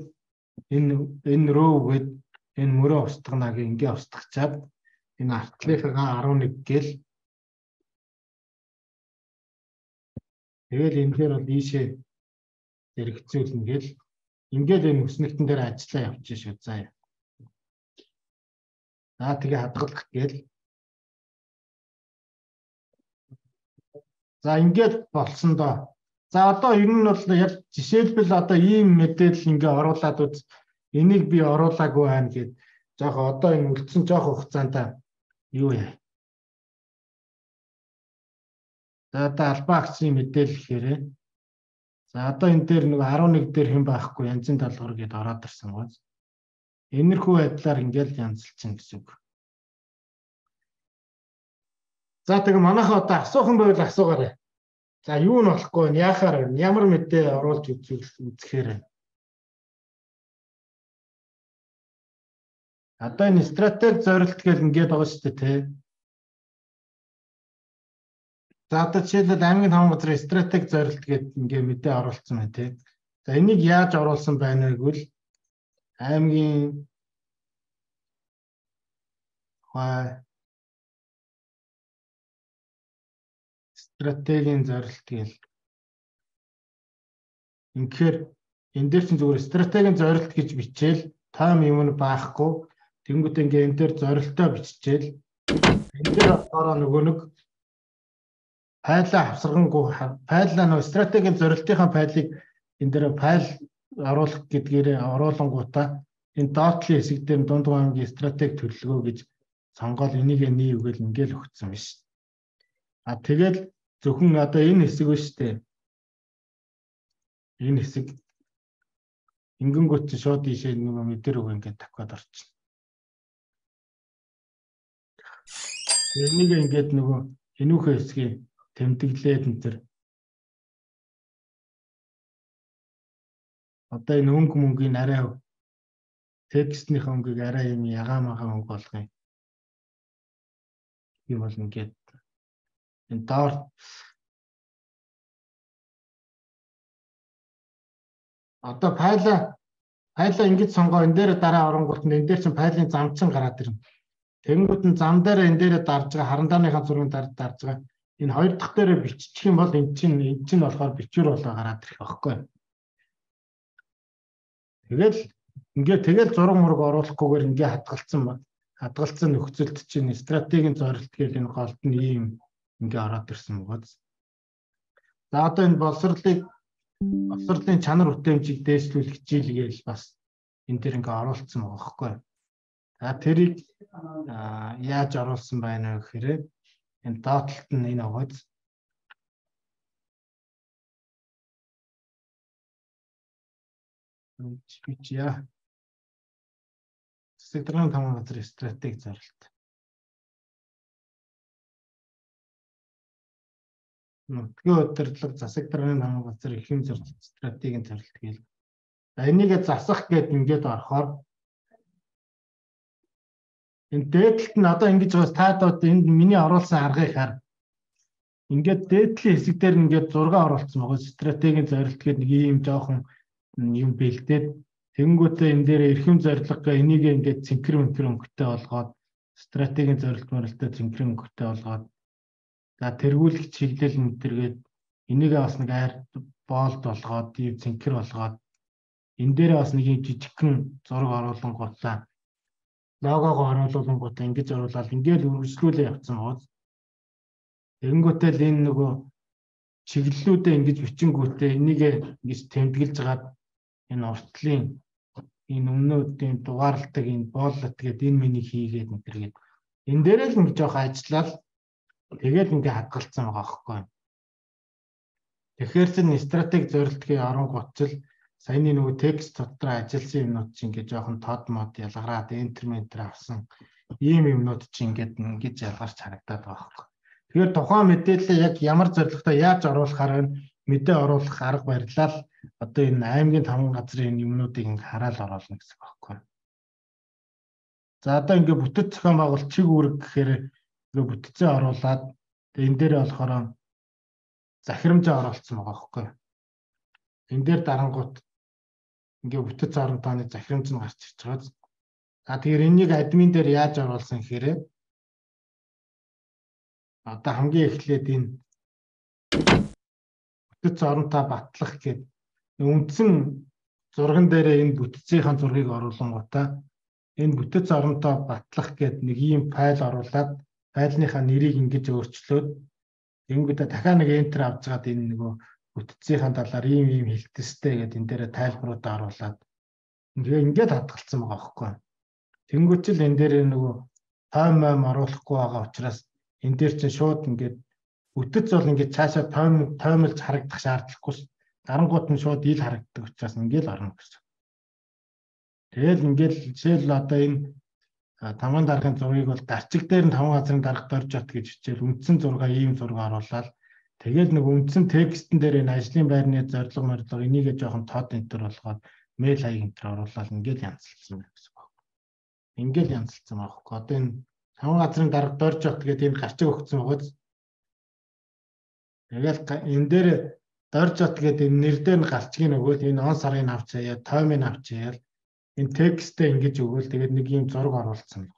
энэ энэ row гээд энэ мөрөө устгана гэх ингээ устгачаад энэ артлынхаа арван нэг гээл тэгэл энэ дээр бол ийшээ зэрэгцүүлнэ гээл ингээл энэ өснөгтөн дээр ажиллаа явчих шүү заа. За тэгээ хадгалах гээл. За ингээд болсон доо. За одоо ер нь бол яг жишээлбэл одоо ийм мэдээлэл ингээ оруулаад үз. Энийг би оруулаагүй байна гэд. Жохо одоо энэ үлдсэн жоох хугацаанд юу яа. За одоо албаа агчийн мэдээлэл хэрэг. За одоо энэ дээр нэг арван нэг дээр хэн байхгүй янзын талбар гээд ороод ирсэн гоц. Энэрхүү байдлаар ингээл янзлчихна гэсэн үг. За тэгээ манайхаа одоо асуухан байвал асуугаарай. За юу нь болохгүй вэ? Яахаар вэ? Ямар мэдээ оруулж үзэхээр. Одоо энэ стратеги зорилт гэл ингээд байгаа шүү дээ тий. За одоо жишээлбэл аймгийн тамга газрын стратеги зорилт гэдэг ингээд мэдээ оруулсан байна тий. За энийг яаж оруулсан байна вэ гэвэл аймгийн хаа стратегийн зорилт гэл. Инхээр энэ дээр чинь зүгээр стратегийн зорилт гэж бичээл тайм юм нь баахгүй. Тэнгүүд ингээ энэ дээр зорилтоо биччихээл. Энэ дээр болохоор нөгөө нэг файлаа авсаргангүй файлаа нөгөө стратегийн зорилтынхаа файлыг энэ дээр файл оруулах гэдгээр оруулангуудаа энэ dot-ийн хэсэг дээр дунд аймгийн стратеги төлөвлөгөө гэж сонгоод энийг нийвгээл ингээл өгсөн биш. А тэгэл зөвхөн одоо энэ хэсэг биш үү? Энэ хэсэг ингэнгүүт чи шууд ийшээ нөгөө мэдэр үг ингээд тавхад орчих. Энийг ингээд нөгөө энүүхээ хэсгийг тэмдэглээд энэ төр одоо энэ өнгө мөнгөний арай текстний хонгийг арай юм ягаан магаан өнгө болгоё. Тийм бол ингээд энэ доор одоо файла файла ингэж сонгоо энэ дээр дараа оронгууд энэ дээр чинь файлын замчин гараад ирнэ. Тэнгүүд нь зам дээр энэ дээр дарж байгаа харандааныхаа зургийг дарж дарж байгаа. Энэ хоёр дахь дээрээ биччих юм бол эн чинь эн чинь болохоор бичвэр болоо гараад ирэх байхгүй. Тэгэл ингээд тэгэл зураг мураг оруулахгүйгээр ингээд хадгалсан ба хадгалсан нөхцөлд чинь стратегийн зорилт гэдэг энэ голд нь ийм ингээд ороод ирсэн байгаа. За одоо энэ боловсролыг боловсролын чанар бүтээмжийг дээшлүүлэх хичээлгээл бас энэ төр ингээд оруулсан байгаа байхгүй. За тэрийг яаж оруулсан байна вэ гэхээр энэ доотлолт нь энэ аваад бичья. Засаг даргын тамга газрын стратеги зорилт. Нутгийн удирдлага засаг даргын тамга газрын эрхэм зорилт стратегийн зорилт гээл. За энийгээ засах гэдэг ингээд орохоор энэ дээдлэлт нь одоо ингэж байгаас таадууд энд миний оруулсан аргыг хар. Ингээд дээдлийн хэсэг дээр ингээд зураг оруулсан байгаа. Стратегийн зорилт гэдэг нэг ийм жоохон юм бэлдээд тэнгуүтээ энэ дээр эрхэм зорилго энийг ингээд цэнхэр мэнхэр өнгөтэй болгоод стратегийн зорилт мөрөлтөд цэнхэр өнгөтэй болгоод за тэргүүлэх чиглэл мэтэргээд энийгээ бас нэг айр боолд болгоод ийм цэнхэр болгоод энэ дээрээ бас нэг юм жижигхэн зураг оруулангуудаа логогоо оруулангуудаа ингэж оруулаад ингээд үргэлжлүүлээ явцсан байгаа. Тэнгуүтээ л энэ нөгөө чиглэлүүдээ ингэж бичингүүтээ энийг ингэж тэмдэглэж гаад энэ уртлын энэ өмнөдийн дугаарлалтыг энэ бооллот гэдэг энэ миний хийгээд энэ энэ дээрээ л нэг жоох ажиллаад тэгээд ингээ хадгалсан байгаа байхгүй. Тэгэхээр чин стратеги зорилтгийн оронгуутчил саяны нөгөө текст дотор ажилласан юмнууд чинь ингээ жоохон тод мод ялгараад энтерментер авсан ийм юмнууд чинь ингээд ингэж ялгарч харагдаад байгаа байхгүй. Тэгэхээр тухайн мэдээлэл яг ямар зорилготой яаж оруулахаар вэ? Мэдээ оруулах арга барилаа одоо энэ аймгийн тамга газрын энэ юмнуудыг ингээ хараал оруулна гэсэн байхгүй. За одоо ингээ бүтэц зохион байгуулалт чиг үүрэг гэхээр ингээ бүтцээ оруулаад энэ дээр болохоор захирамжаа оруулсан байгаа байхгүй. Энэ дээр дарангуут ингээ бүтэц орон тооны захирамж нь гарч ирж байгаа. За тэгэхээр энийг админ дээр яаж оруулсан гэхээр одоо хамгийн эхлээд энэ бүтэц оронтой батлах гэдэг үндсэн зурган дээрээ энэ бүтцийн зургийг оруулангуудаа энэ бүтэц оронтой батлах гэдэг нэг ийм файл оруулаад файлныхаа нэрийг ингэж өөрчлөөд ингэдэ дахиад нэг enter авч гаад энэ нөгөө бүтцийн талаар ийм ийм хэлтстэй гэдэг энэ дээрээ тайлбаруудаа оруулаад ингээ ингээд хадгалсан байгаа байхгүй. Тэнгүүчл энэ дээр нөгөө тайм ам оруулахгүй байгаа учраас энэ дээр чинь шууд ингээд бүтэц бол ингээд цаашаа тайм таймлж харагдах шаардлагагүй. Дарангууд нь шууд ил харагддаг учраас ингээд орно гэсэн. Тэгэл ингээд жишээл одоо энэ тамган даргын зургийг бол гарчиг дээр нь тамган газрын дарга дорж ат гэж хичээл үндсэн зургаа ийм зураг оруулаад тэгэл нэг үндсэн текстэн дээр энэ ажлын байрны зорилго морилго энийгээ жоохон тод энтер болгоод мэйл хаяг энтер оруулаад ингээд янзлсан байх гэсэн байна. Ингээд янзлсан байхгүй. Одоо энэ тамган газрын дарга дорж ат гэдэг энэ гарчиг өгсөн байгааз тэгэл энэ дээр дорж ат гэдэг энэ нэр дээр нь гарчгийг өгөөл энэ он сарын авч хаяа таймыг авч хаяа энэ текстээ ингэж өгөөл тэгээд нэг юм зураг оруулсан байна.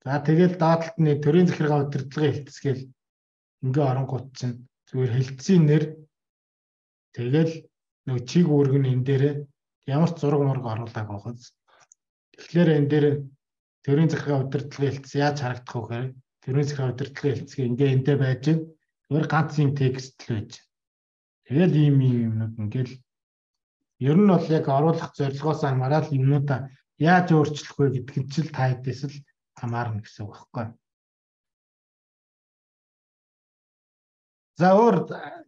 За тэгэл доотлолт нь төрийн захиргаа удирдлагын хэлтсгээл ингээ оронгууд чинь зүгээр хэлтсийн нэр тэгэл нэг чиг үүрэг нь энэ дээрээ ямар ч зураг мураг оруулааг байгааз. Тэгэхээр энэ дээр төрийн захиргаа удирдлагын хэлтс яаж харагдах вэ гэхээр төрийн захиргаа удирдлагын хэлтсгээ ингээ эндээ байж зүгээр ганц юм текст л байж. Тэгэл ийм ийм юмнууд ингээл ер нь бол яг оруулах зорилгоос хамаарал юмнуудаа яаж өөрчлөх вэ гэдг нь ч л та хэдээс л хамаарна гэсэн үг байхгүй. За өөр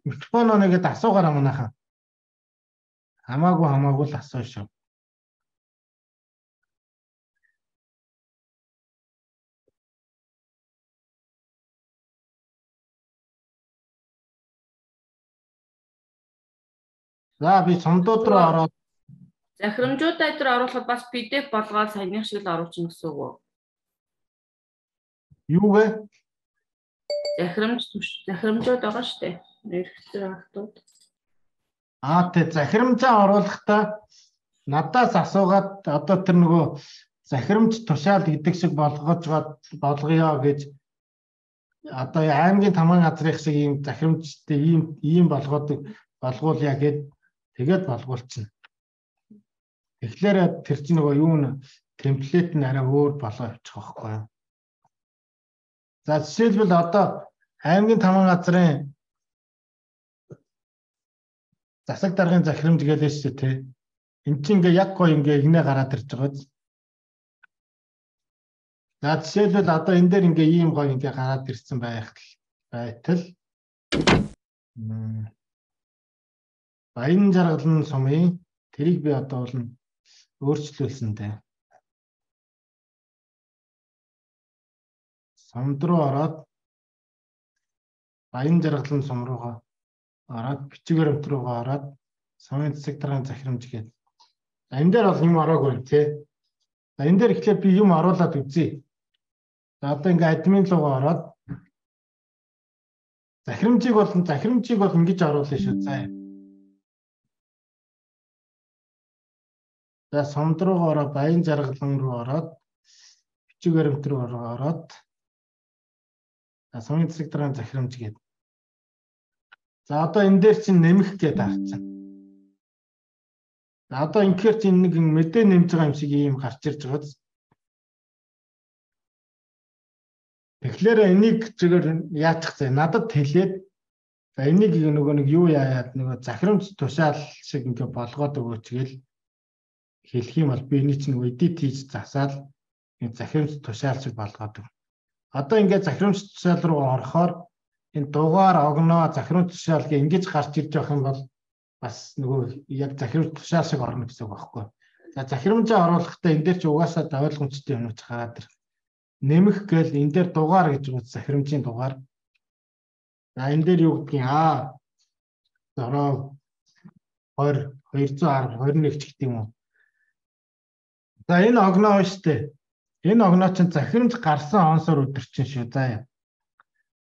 микрофон оногод асуугаараа манайхаа. Хамаагүй хамаагүй л асуу шүү. За би сумдууд руу ороод Захирамжуудаа дээр оруулахад бас пи ди эф болгоод саяных шиг л оруулчихна гэсэн үг үү? юу вэ? Захирамж захирамжууд байгаа шүү дээ. Нэрхтэр автууд. Аа тэ захирамжаа оруулахдаа надаас асуугаад одоо тэр нөгөө захирамж тушаал гэдэг шиг болгож болгоё гэж одоо аймгийн таман газрын шиг ийм захирамжтай ийм ийм болгоод болгуулъя гэд тэгээд болгуулчихна. Тэгэхээр тэр чинь нөгөө юу н темплейт нь арай өөр болоо явчих واخхой юу. За жишээлбэл одоо аймгийн таман газрын засаг даргын захирамж гэлээ шүү дээ. Энд чинь ингээ яг гоо ингээ игнэ гараад ирж байгаа. За жишээлбэл одоо энэ дээр ингээ ийм гоо ингээ гараад ирсэн байх байтал баян жаргалын сумын тэрийг би одоо бол өөрчлүүлсэн дээ. Сумд руу ороод баян жаргалын сум руугаа ороод бичиг баримт руугаа ороод сумын засаг даргын захирамж гэдэг. Энэ дээр бол юм ороогүй тий. За энэ дээр ихлээр би юм оруулаад үзье. За одоо ингээ админ руугаа ороод захирамжийг бол захирамжийг бол ингэж оруулъя шүү. За. За сумд руугаа ороод баян жаргалан руу ороод бичиг баримт руу ороод за сумын засаг даргын захирамж гэдэг. За одоо энэ дээр чинь нэмэх гэдэг харцсан. За одоо инхээр чинь нэг мэдээ нэмж байгаа юм шиг ийм гарч ирж байгаа. Тэгэхээр энийг зүгээр яачих зэ надад хэлээд за энийг нөгөө нэг юу яагаад нөгөө захирамж тушаал шиг ингээ болгоод өгөөч гээл хэлэх юм бол би энийг чинь нөгөө эдит хийж засаал энэ захирамж тушаал шиг болгоод өг. Одоо ингээ захирамж тушаал руу орохоор энэ дугаар огноо захирамж тушаал гэ ингэж гарч ирж явах юм бол бас нөгөө яг захирамж тушаал шиг орно гэсэн үг байхгүй. За захирамжаа оруулахдаа энэ дээр чи угаасаа ойлгомжтой юмнууд гараад ир. Нэмэх гээл энэ дээр дугаар гэж байгаа захирамжийн дугаар. За энэ дээр юу гэдгийг аа зороо хоёр зуун арван хоёр нэг ч гэдэг юм уу. За энэ огноо шүү дээ. Энэ огноо чинь захирамж гарсан онсоор өдөрчин шүү. За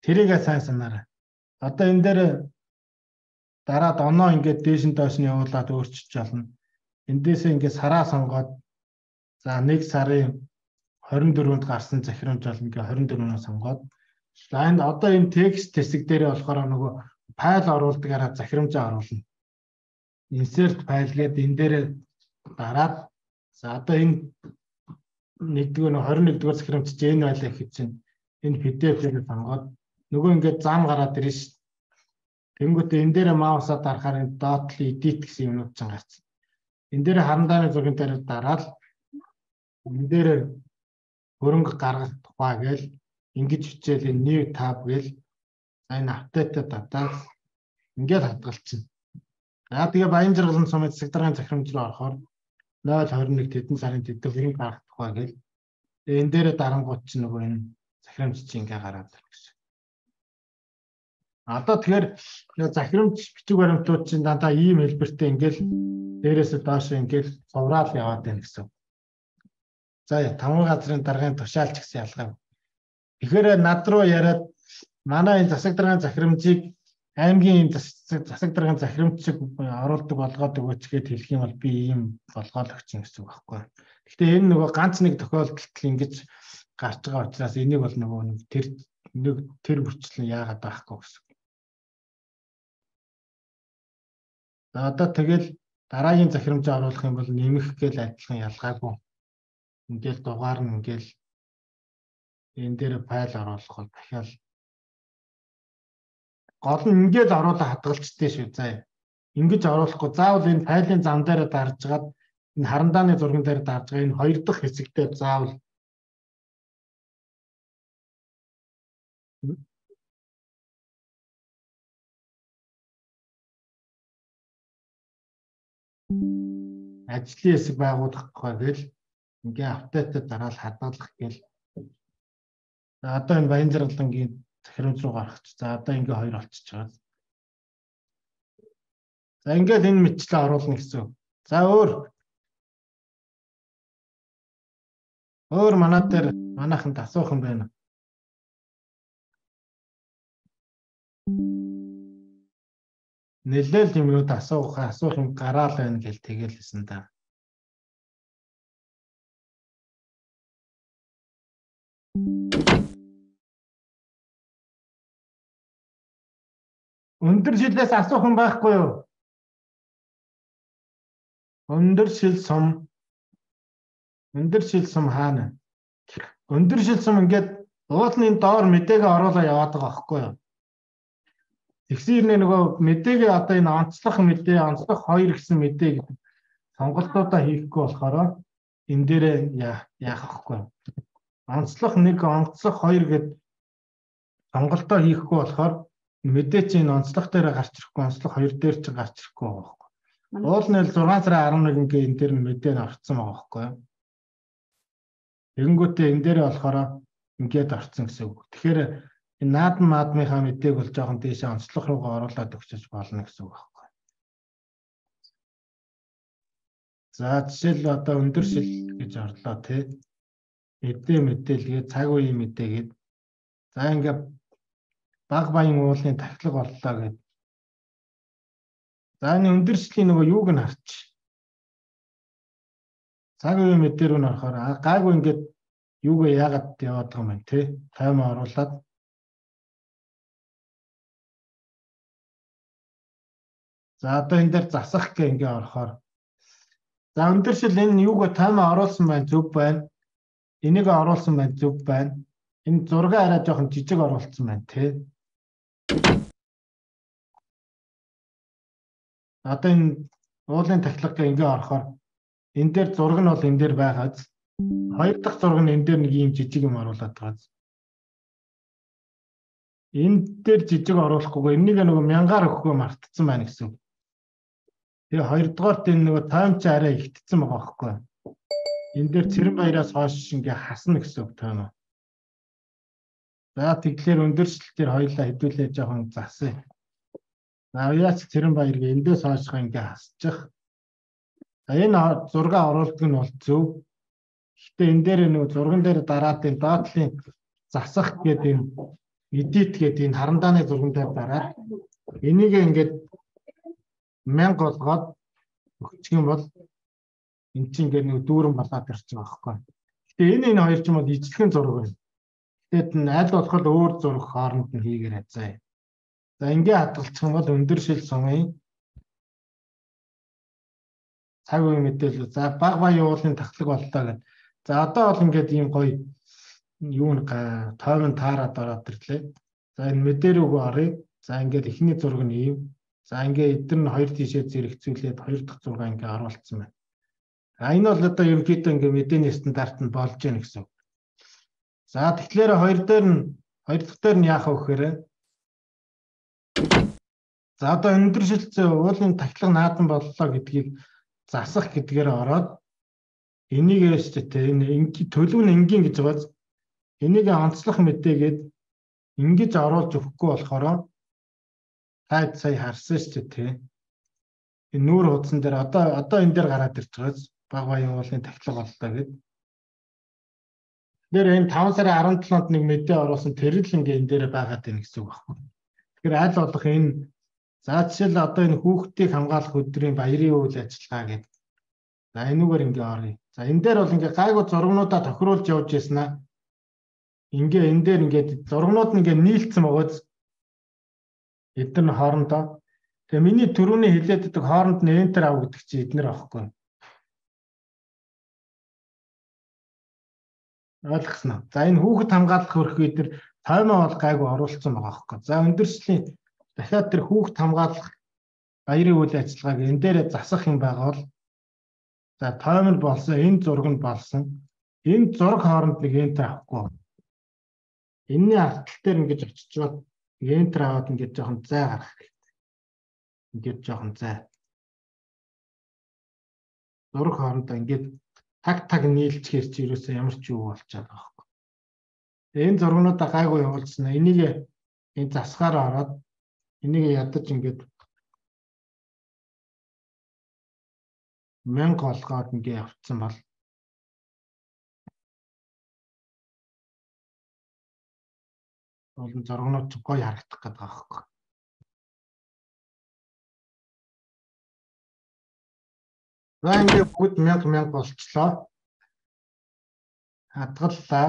тэрийгээ сайн санаарай. Одоо энэ дээр дараад оноо ингээд дээш нь доош нь явуулаад өөрчилж болно. Эндээсээ ингээд сараа сонгоод за нэг сарын хорин дөрөвөнд гарсан захирамж бол ингээд хорин дөрөвнөөс сонгоод за энэ одоо энэ текст хэсэг дээр болохоор нөгөө файл оруулдагаараа захирамжаа оруулна. Insert файл гэдэг энэ дээр дараад за одоо энэ нэгдүгээр нь хорин нэгдүгээр захирамж чинь энэ байлаа гэж чинь энэ пи ди эф-ээр сонгоод нөгөө ингээд зам гараад ирнэ шүү. Тэнгүүтээ энэ дээр маусаа дарахаар dot edit гэсэн юмнууд ч гарсан. Энэ дээр харандааны зургийн дээр дараад энэ дээр хөрөнгө гаргах тухай гээл ингэж хичээл энэ new tab гээл энэ апдейтэд татаад ингээд хадгалчихна. За тэгээ баян жаргалан сумын засаг даргын захирамж руу орохоор ноль хорин нэг тэдэн сарын тэдэн хөрөнгө гаргах тухай гээл энэ дээр дарангууд чинь нөгөө энэ захирамж чинь ингээд гараад ирэх гэсэн. Одоо тэгэхээр захирамж бичиг баримтууд чинь дандаа ийм хэлбэртэй ингээл дээрээс доош ингээл цувраал яваад байна гэсэн. За таван газрын даргын тушаалч гэсэн ялгаа. Тэгэхээр над руу яриад манай энэ засаг даргын захирамжийг аймгийн засаг даргын захирамжийг оруулдаг болгоод өгөөч гэд хэлэх юм бол би ийм болгоод өгч юм гэсэн үг байхгүй. Гэхдээ энэ нөгөө ганц нэг тохиолдолд ингэж гарч байгаа учраас энийг бол нөгөө нэг тэр нэг тэр бүрчлэн яагаад байхгүй гэсэн. За одоо тэгэл дараагийн захирамжаа оруулах юм бол нэмэх гээл адилхан ялгаагүй. Ингээл дугаар нь ингээл энэ дээр файл оруулах бол дахиад гол нь ингээд оруулаа хадгалчтэй шүү. За ингэж оруулахгүй заавал энэ файлын зам дээр дарж гаад энэ харандааны зурган дээр дарж байгаа энэ хоёр дахь хэсэгтээ заавал ажлын хэсэг байгуулах гэл ингээ апдейтэд дараал хадгалах гээл. За одоо энэ баян жаргалангийн захирамж руу гарах. За одоо ингээ хоёр болчихж байгаа. За ингээд энэ мэтчлээ оруулна гэсэн. За өөр. Өөр манаа дээр манайханд асуух юм байна. Нэлээл юмнууд асуух асуух юм гараал байна гэж тэгэлсэн да. Өндөр шилээс асуух юм байхгүй юу? Өндөр шил сум. Өндөр шил сум хаана? Өндөр шил сум ингээд уулын доор мэдээгээ оруулаа яваад байгаа байхгүй юу? Тэгсэрнэ нөгөө мэдээгээ одоо энэ онцлох мэдээ, онцлох хоёр гэсэн мэдээ гэдэг сонголтуудаа хийхгүй болохоор энэ дээрээ яах вэ? Онцлох нэг, онцлох хоёр гэдэг сонголтоо хийхгүй болохоор мэдээ чинь онцлох дээр гарч ирэхгүй, онцлох хоёр дээр ч гарч ирэхгүй байгаа байхгүй. Уулын зургаан сарын арван нэг ингээ энэ дээр нь мэдээ нь орцсон байгаа байхгүй. Тэгэнгүүтээ энэ дээр болохоор ингээд орцсон гэсэн үг. Тэгэхээр энэ наадам маадмынхаа мэдээг бол жоохон дээшээ онцлох руугаа оруулаад өгчөж болно гэсэн үг байхгүй. За жишээл одоо өндөр шил гэж орлоо тий. Мэдээ мэдээлгээ цаг үеийн мэдээгээд за ингээд баг баян уулын тахилга боллоо гэд. За энэ өндөр шилийн нөгөө юуг нь харч. Цаг үеийн мэдээ рүү н орохоор гайгүй ингээд юугаа яагаад яваад байгаа юм бэ те таймаа оруулаад за одоо энэ дээр засах гэх ингээ орохоор за өндөр шил энэ юугаа таймаа оруулсан байна зөв байна. Энийг оруулсан байна зөв байна. Энэ зураг арай жоохон жижиг оруулсан байна те. Одоо энэ уулын тахилга ингээ орохоор энэ дээр зураг нь бол энэ дээр байгааз хоёр дахь зураг нь энэ дээр нэг юм жижиг юм оруулаад байгаа. Энэ дээр жижиг оруулахгүйгээр энийг нөгөө мянгаар өгөхөө мартцсан байна гэсэн. Тэгээ хоёрдугаарт энэ нөгөө тайм ч арай ихтсэн байгаа байхгүй. Энэ дээр цэрэн баяраас хойш ингээ хасна гэсэн үг тайм. За тэгэхээр өндөрчлөлтээр хоёлаа хэдүүлээ жоохон засъя. За яач цэрэн баяр гээ эндээс хойш ингээ хасчих. Энэ зураг оруулдаг нь бол зөв. Гэтэ энэ дээр нөгөө зурган дээр дараад энэ доотлын засах гэдэг энэ edit гэдэг энэ харандааны зурган дээр дараад энийг ингээд мянга болгоод өгчих юм бол энэ чинь ингээд нэг дүүрэн болоод ирчих байгаа байхгүй. Гэтэ энэ энэ хоёр ч юм бол ижлэхэн зураг байна. Тэгэд нь аль болох өөр зураг хооронд нь хийгээрэй заа. За ингээ хадгалчих юм бол өндөр шил сумын цаг үе мэдээлэл за баг баян уулын тахлаг боллоо гэдэг. За одоо бол ингээд ийм гоё юу н тойвон таарад ороод ирлээ. За энэ мэдээ рүү оръё. За ингээд эхний зураг нь ийм. За ингээд эдгээр нь хоёр тишээ зэрэгцүүлээд хоёр дахь зураг ингээд оруулсан байна. А энэ бол одоо ерөнхийдөө ингээд мэдээний стандарт нь болж гэнэ гэсэн. За тэгэхээр хоёр дээр нь хоёр дахь дээр нь яах вэ гэхээр за одоо өндөр шилжсэн уулын тахлаг наадам боллоо гэдгийг засах гэдгээр ороод энийг яштэй энэ төлөв нь энгийн гэж байгааз энийг онцлох мэдээгээд ингэж оруулж өгөхгүй болохоор таад сая харсан шүү дээ тий. Энэ нүүр хуудсан дээр одоо одоо энэ дээр гараад ирж байгааз баг баян уулын тахлаг боллоо гэд. Тэр энэ таван сарын арван долоонд нэг мэдээ оруулсан тэр л ингээ энэ дээр байгаад байна гэсэн үг байна. Тэгэхээр аль болох энэ за жишээл одоо энэ хүүхдийг хамгаалах өдрийн баярын үйл ажиллагаа гэдэг. За энүүгээр ингээ оръё. За энэ дээр бол ингээ гайгүй зургнуудаа тохируулж явж яснаа. Ингээ энэ дээр ингээд зургнууд нь ингээ нийлцсэн байгааз эдгээр нь хоорондоо. Тэгээ миний түрүүний хэлээд байдаг хооронд нь enter ав гэдэг чинь эднэр аахгүй. Ойлгосноо. За энэ хүүхэд хамгаалах хөрх эдгээр таймаа бол гайгүй оруулсан байгаа аахгүй. За өндөрслийн дахиад тэр хүүхэд хамгаалах баярын үйл ажиллагааг энэ дээр засах юм байгаа бол за таймер болсон, энэ зураг нь болсон. Энэ зураг хооронд нэг enter авахгүй. Энэний артал дээр ингэж очичоод enter аваад ингэж жоохон зай гаргах хэрэгтэй. Ингэж жоохон зай. Зураг хоорондоо ингэж таг таг нийлчихэр чи ерөөсөө ямар ч юу болчиход байгаа байхгүй. Энэ зургнуудаа гайгүй явуулсан. Энийг энэ засгаар ороод энийг ядаж ингэж мянга болгоод ингээ явцсан бол олон зургнууд гоё харагдах гэдэг аахгүй. За ингээ бүгд мянга мянга болчлоо. Хадгаллаа.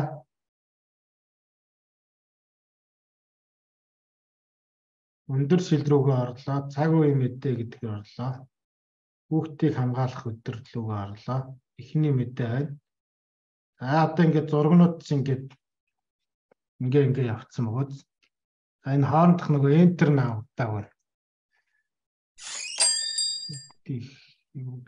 Өндөр шилрүүгээ орлоо. Цаг үеийн мэдээ гэдгээр орлоо. Хүүхдийг хамгаалах өдөрлөгөө орлоо. Эхний мэдээ байна. За одоо ингээд зургнууд чинь ингээд ингээ ингээ явцсан бөгөөд. За энэ хоорондох нөгөө enter наавдаг байна. Тих юу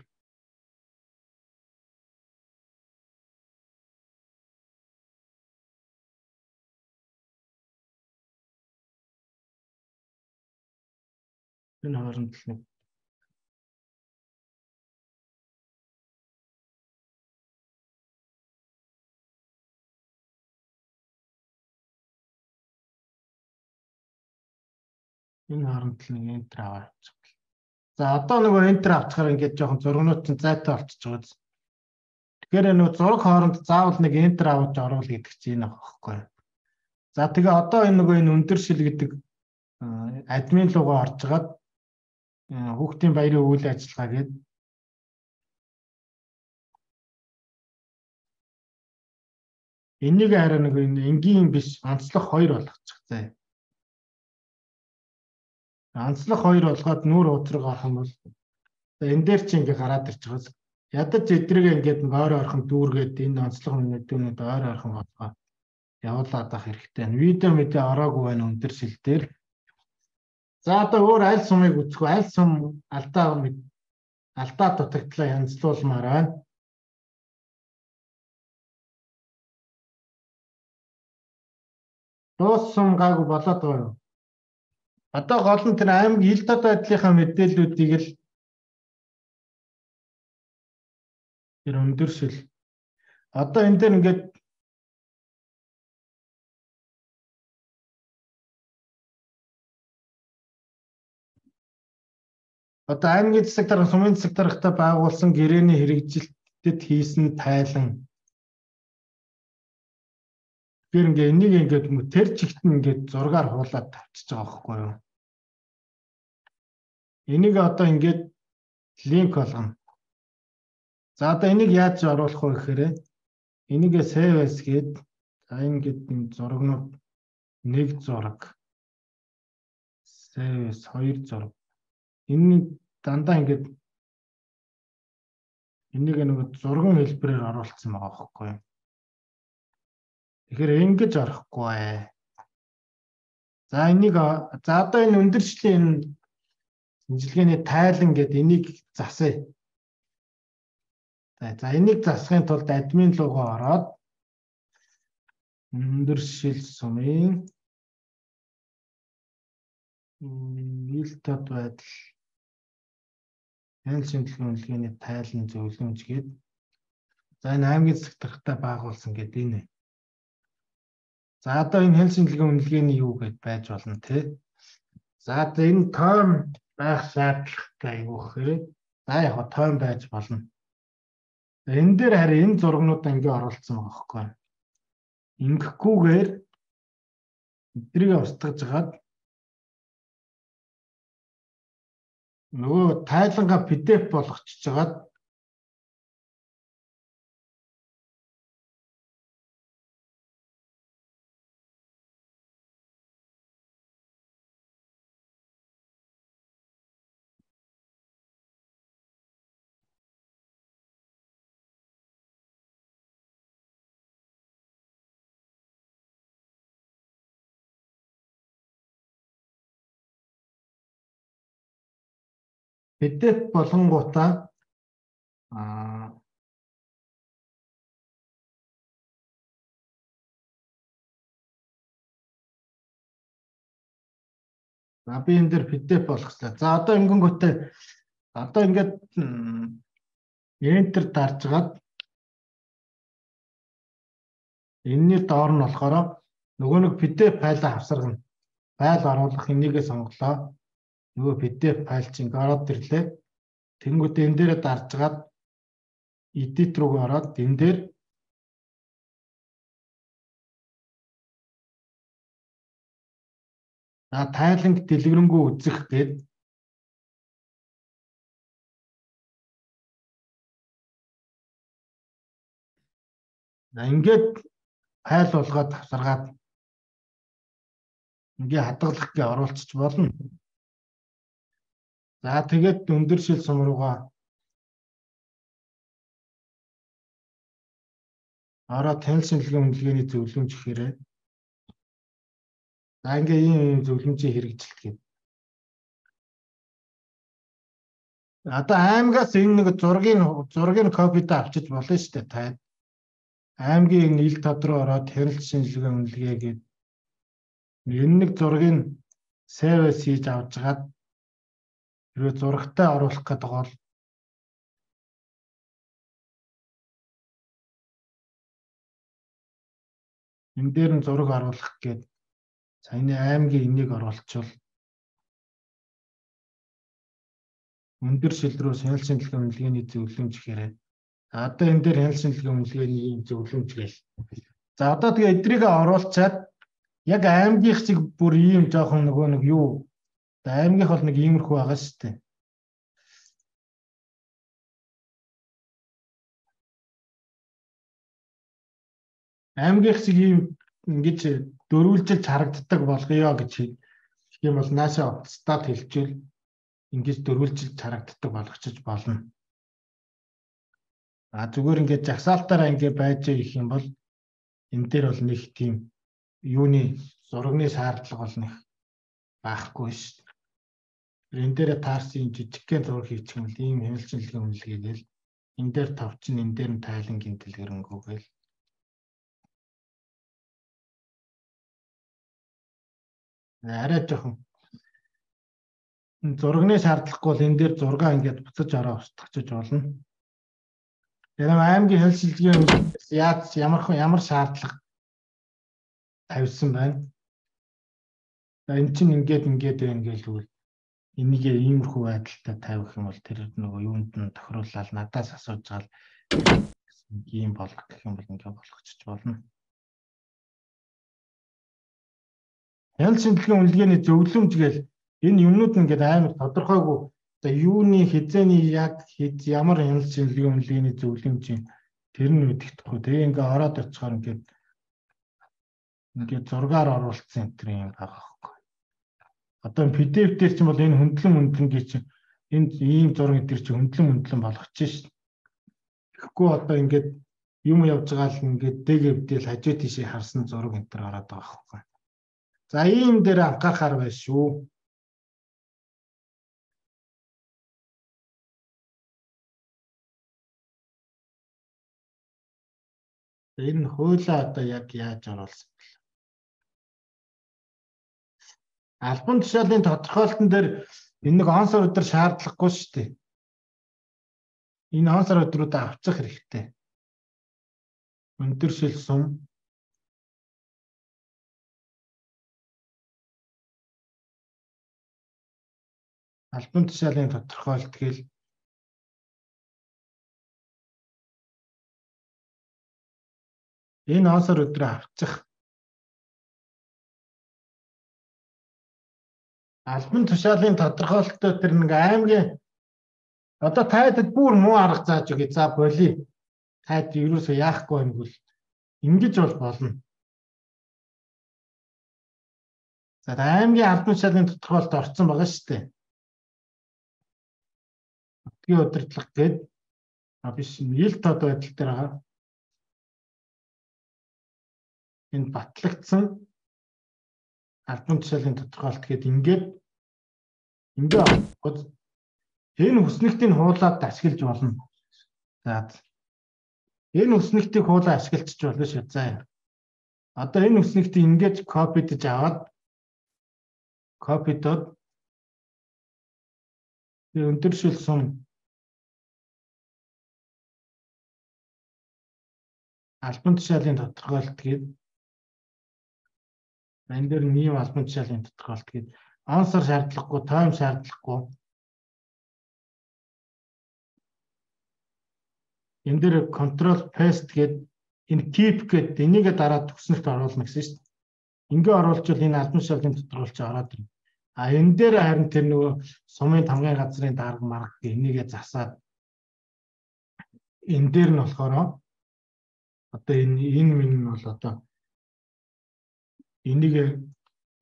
энэ хооронд л нэг энэ хооронд л нэг enter аваачих. За одоо нөгөө enter авчихаар ингээд жоохон зургнууд чинь зайтай болчихж байгаа. Тэгэхээр нөгөө зураг хооронд заавал нэг enter аваад оруул гэдэг чинь энэ аахгүй. За тэгээ одоо энэ нөгөө энэ өндөр шил гэдэг админ руугаа орж гаад хүүхдийн баярын үйл ажиллагаа гээд энийг хараа нэг энгийн биш онцлог хоёр болгочих заа. Онцлог хоёр болгоод нүүр уучраг орох юм бол энэ дээр чи ингээ гараад ирж байгаа. Ядаж эдрэг ингээд ойр орхон дүүргээд энэ онцлог мэдүүнүүд ойр орхон болгоо явуулаад авах хэрэгтэй. Видео мэдээ ороогүй байна өндөр шил дээр. За одоо өөр аль сумыг үзэх вэ? Аль сум алдаа алдаа дутагдлаа янзлуулмаар байна. Дуус сум гайгүй болоод байгаа юу? Одоо гол нь тэр аймаг ил тод байдлынхаа мэдээллүүдийг л тэр өндөр шил. Одоо энэ дээр ингээд одоо аймгийн засаг дарга, сумын засаг даргатай байгуулсан гэрээний хэрэгжилтэд хийсэн тайлан. Тэр ингээ энийг ингээд тэр чигт нь ингээд зургаар хуулаад тавьчихж байгаа байхгүй юу? Энийг одоо ингээд линк болгоно. За одоо энийг яаж оруулах вэ гэхээр энийгээ save as гээд за ингээд энэ зурагнууд нэг зураг save as хоёр зураг. Энэ дандаа ингээд энийг нэг зурган хэлбэрээр оруулсан байгаа байхгүй юу? Тэгэхээр ингэж орохгүй. За энийг за одоо энэ өндөршлийн шинжилгээний тайлан гэдэг энийг засъя. За энийг засахын тулд админ руугаа ороод өндөршил сумын ил тод байдал энэ шинжилгээ үнэлгээний тайлан зөвлөмж гээд за энэ аймгийн засаг даргатай байгуулсан гэдэг энэ. За одоо энэ хэл шинжилгээ үнэлгээний юу гэд байж болно те. За одоо энэ тоон байх шаардлагатай юу гэхээр за яг тоон байж болно. Энэ дээр харин энэ зургнуудаа ингээ оруулсан байгаа байхгүй. Ингэхгүйгээр эдрийг устгаж гаад нөгөө тайлангаа пи ди эф болгочихж гаад пи ди эф болонгуудаа аа за би энэ дээр пи ди эф болгослаа. За одоо ингэнгүүтээ одоо ингээд enter дарж гаад энэний доор нь болохоор нөгөө нэг пи ди эф файлаа авсаргана. Файл оруулах энийгээ сонголоо. Нөгөө пи ди эф файл чинь ороод ирлээ. Тэнгүүтээ энэ дээрээ дарж гаад edit руу ороод энэ дээр за тайланг дэлгэрэнгүй үзэх гээд за ингээд файл болгоод авсаргаад ингээ хадгалах гээ оруулчих болно. За тэгээд өндөр шил сум руугаа ороод танил шинжилгээ үнэлгээний зөвлөмж гэхээрээ за ингээ ийм зөвлөмжийн хэрэгжилт гэдэг. Одоо аймагаас энэ нэг зургийн зургийн копид авчиж болно шүү дээ та. Аймгийн ил тод руу ороод танил шинжилгээ үнэлгээ гэдэг энэ нэг зургийг сейвэс хийж авч гаад хэрвээ зурагтай оруулах гэдэг бол энэ дээр нь зураг оруулах гээд саяны аймгийн энийг оруулчихвал өндөр шил рүү хяналт шинжилгээ үнэлгээний зөвлөмж гэхээр одоо энэ дээр хяналт шинжилгээ үнэлгээний ийм зөвлөмж гээл. За одоо тэгээ эдрийг оруулчаад яг аймгийнх шиг бүр ийм жоохон нөгөө нэг юу аймгийнх бол нэг иймэрхүү байгаа шүү дээ. Аймгийнх шиг ийм ингэж дөрвөлжилж харагддаг болгоё гэж хэлэх юм бол наашаа стат хэлчихвэл ингэж дөрвөлжилж харагддаг болгочих болно. А зүгээр ингээд жагсаалтаараа ингээд байж их юм бол энэ дээр бол нэг тийм юуны зурагны шаардлага бол нэг байхгүй шүү дээ. Энэ дээр таарсан жижигхэн зураг хийчих юм бол ийм хяналт шинжилгээ үнэлгээгээл энэ дээр товчин энэ дээр нь тайлангийн дэлгэрэнгүй арай жоохон зурагны шаардлахгүй бол энэ дээр зургаа ингээд буцаж ороо устгахж болно. Тэгэхээр аймгийн хяналт шинжилгээ яаж ямар ямар шаардлага тавьсан байна. За эн чинь ингээд ингээд байна гэлвэл энийг иймэрхүү байдалтай тавих юм бол тэр нөгөө юунд нь тохируулаад надаас асууж гал ийм болгох гэх юм бол ингээд болгочих болно. Хяналт шинжилгээ үнэлгээний зөвлөмж гээл энэ юмнууд нь ингээд амар тодорхойгүй за юуны хизээний яг хэд ямар хяналт шинжилгээ үнэлгээний зөвлөмж юм тэр нь мэддэхгүй. Тэгээ ингээд ороод очихоор ингээд ингээд зургаар оруулсан энэ төр юм байгаа байхгүй. Одоо пи ди эф дээр ч юм бол энэ хөндлөн хөндлөнгийн чинь энэ ийм зураг дээр чинь хөндлөн хөндлөн болгочих шээ. Тэгэхгүй одоо ингээд юм явж байгаа л ингээд дэгэвдэл хажуу тийшээ харсан зураг энэ төр ороод байгаа байхгүй. За ийм дээр анхаарахаар байна шүү. Энэ хуулаа одоо яг яаж оруулсан бэ? Албан тушаалын тодорхойлолтын дээр энэ нэг он сар өдөр шаардлагагүй шүү дээ. Энэ он сар өдрүүдэд авчих хэрэгтэй. Өндөр шил сум албан тушаалын тодорхойлолт гээл энэ он сар өдрөө авчих албан тушаалын тодорхойлолттой тэр нэг аймгийн одоо тайдад бүр муу арга зааж өгье. За боли. Тайд ерөөсөө яахгүй юм бол ингэж бол болно. За аймгийн албан тушаалын тодорхойлолт орсон байгаа шүү дээ. Өдгийн удирдлага гээд а биш ил тод байдал дээр байгаа. Энэ батлагдсан албан тушаалын тодорхойлолт гээд ингээд ингээд энэ хүснэгтийг хуулаад ашиглаж болно. За энэ хүснэгтийг хуулаа ашиглаж болно шүү. За одоо энэ хүснэгтийг ингээд копидж аваад копидод өндөр шил сум албан тушаалын тодорхойлолт гээд энэ дээр нийгэм албан тушаалын тодорхойлолт гээд он сар шаардлагагүй, тайм шаардлагагүй. энэ дээр control paste гэдэг энэ tip гэдэг энийгээ дараад төгснөлт оруулна гэсэн шүү дээ. Ингээ оруулжвал энэ албан тушаалын тодорхойлж ороод ирнэ. А энэ дээр харин тэр нөгөө сумын тамгын газрын дарга марга энийгээ засаад энэ дээр нь болохоор одоо энэ энэ минь нь бол одоо энийг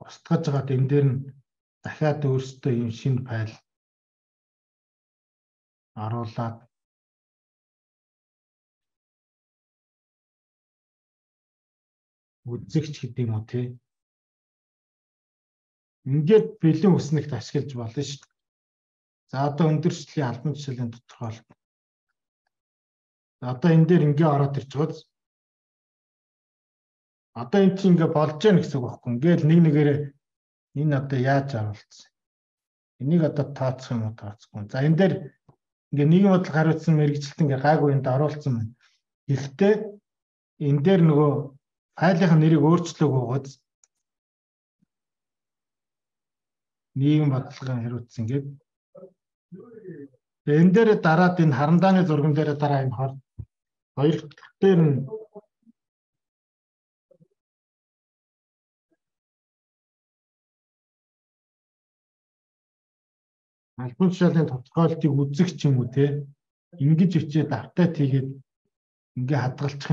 устгаж байгаад энэ дээр нь дахиад өөрсдөө юм шинэ файл оруулаад үзэгч гэдэг юм уу тий. Ингээд бэлэн үснэгт ашиглаж болно шүү дээ. За одоо өндөрчлөлийн албан тушаалын тодорхойлолт. Одоо энэ дээр ингээ ороод ирж байгаа. Одоо энэ чинь ингээ болж гэнэ гэсэн үг байхгүй. Ингээл нэг нэгээрээ энэ одоо яаж оруулсан. Энийг одоо тооцох юм уу тооцохгүй. За энэ дээр ингээ нийгэм бодлого хариуцсан мэргэжилт ингээ гайгүй энд оруулсан байна. Гэхдээ энэ дээр нөгөө файлын нэрийг өөрчлөөг угааз нийгэм бодлогын хариуцсан гэдэг. Энэ дээр дараад энэ харандааны зурган дээр дараа энэ хор хоёр дахь дээр нь албан тушаалын тодорхойлолтыг үзэх ч юм уу те ингэж өчөө давтаад хийгээд ингээ хадгалчих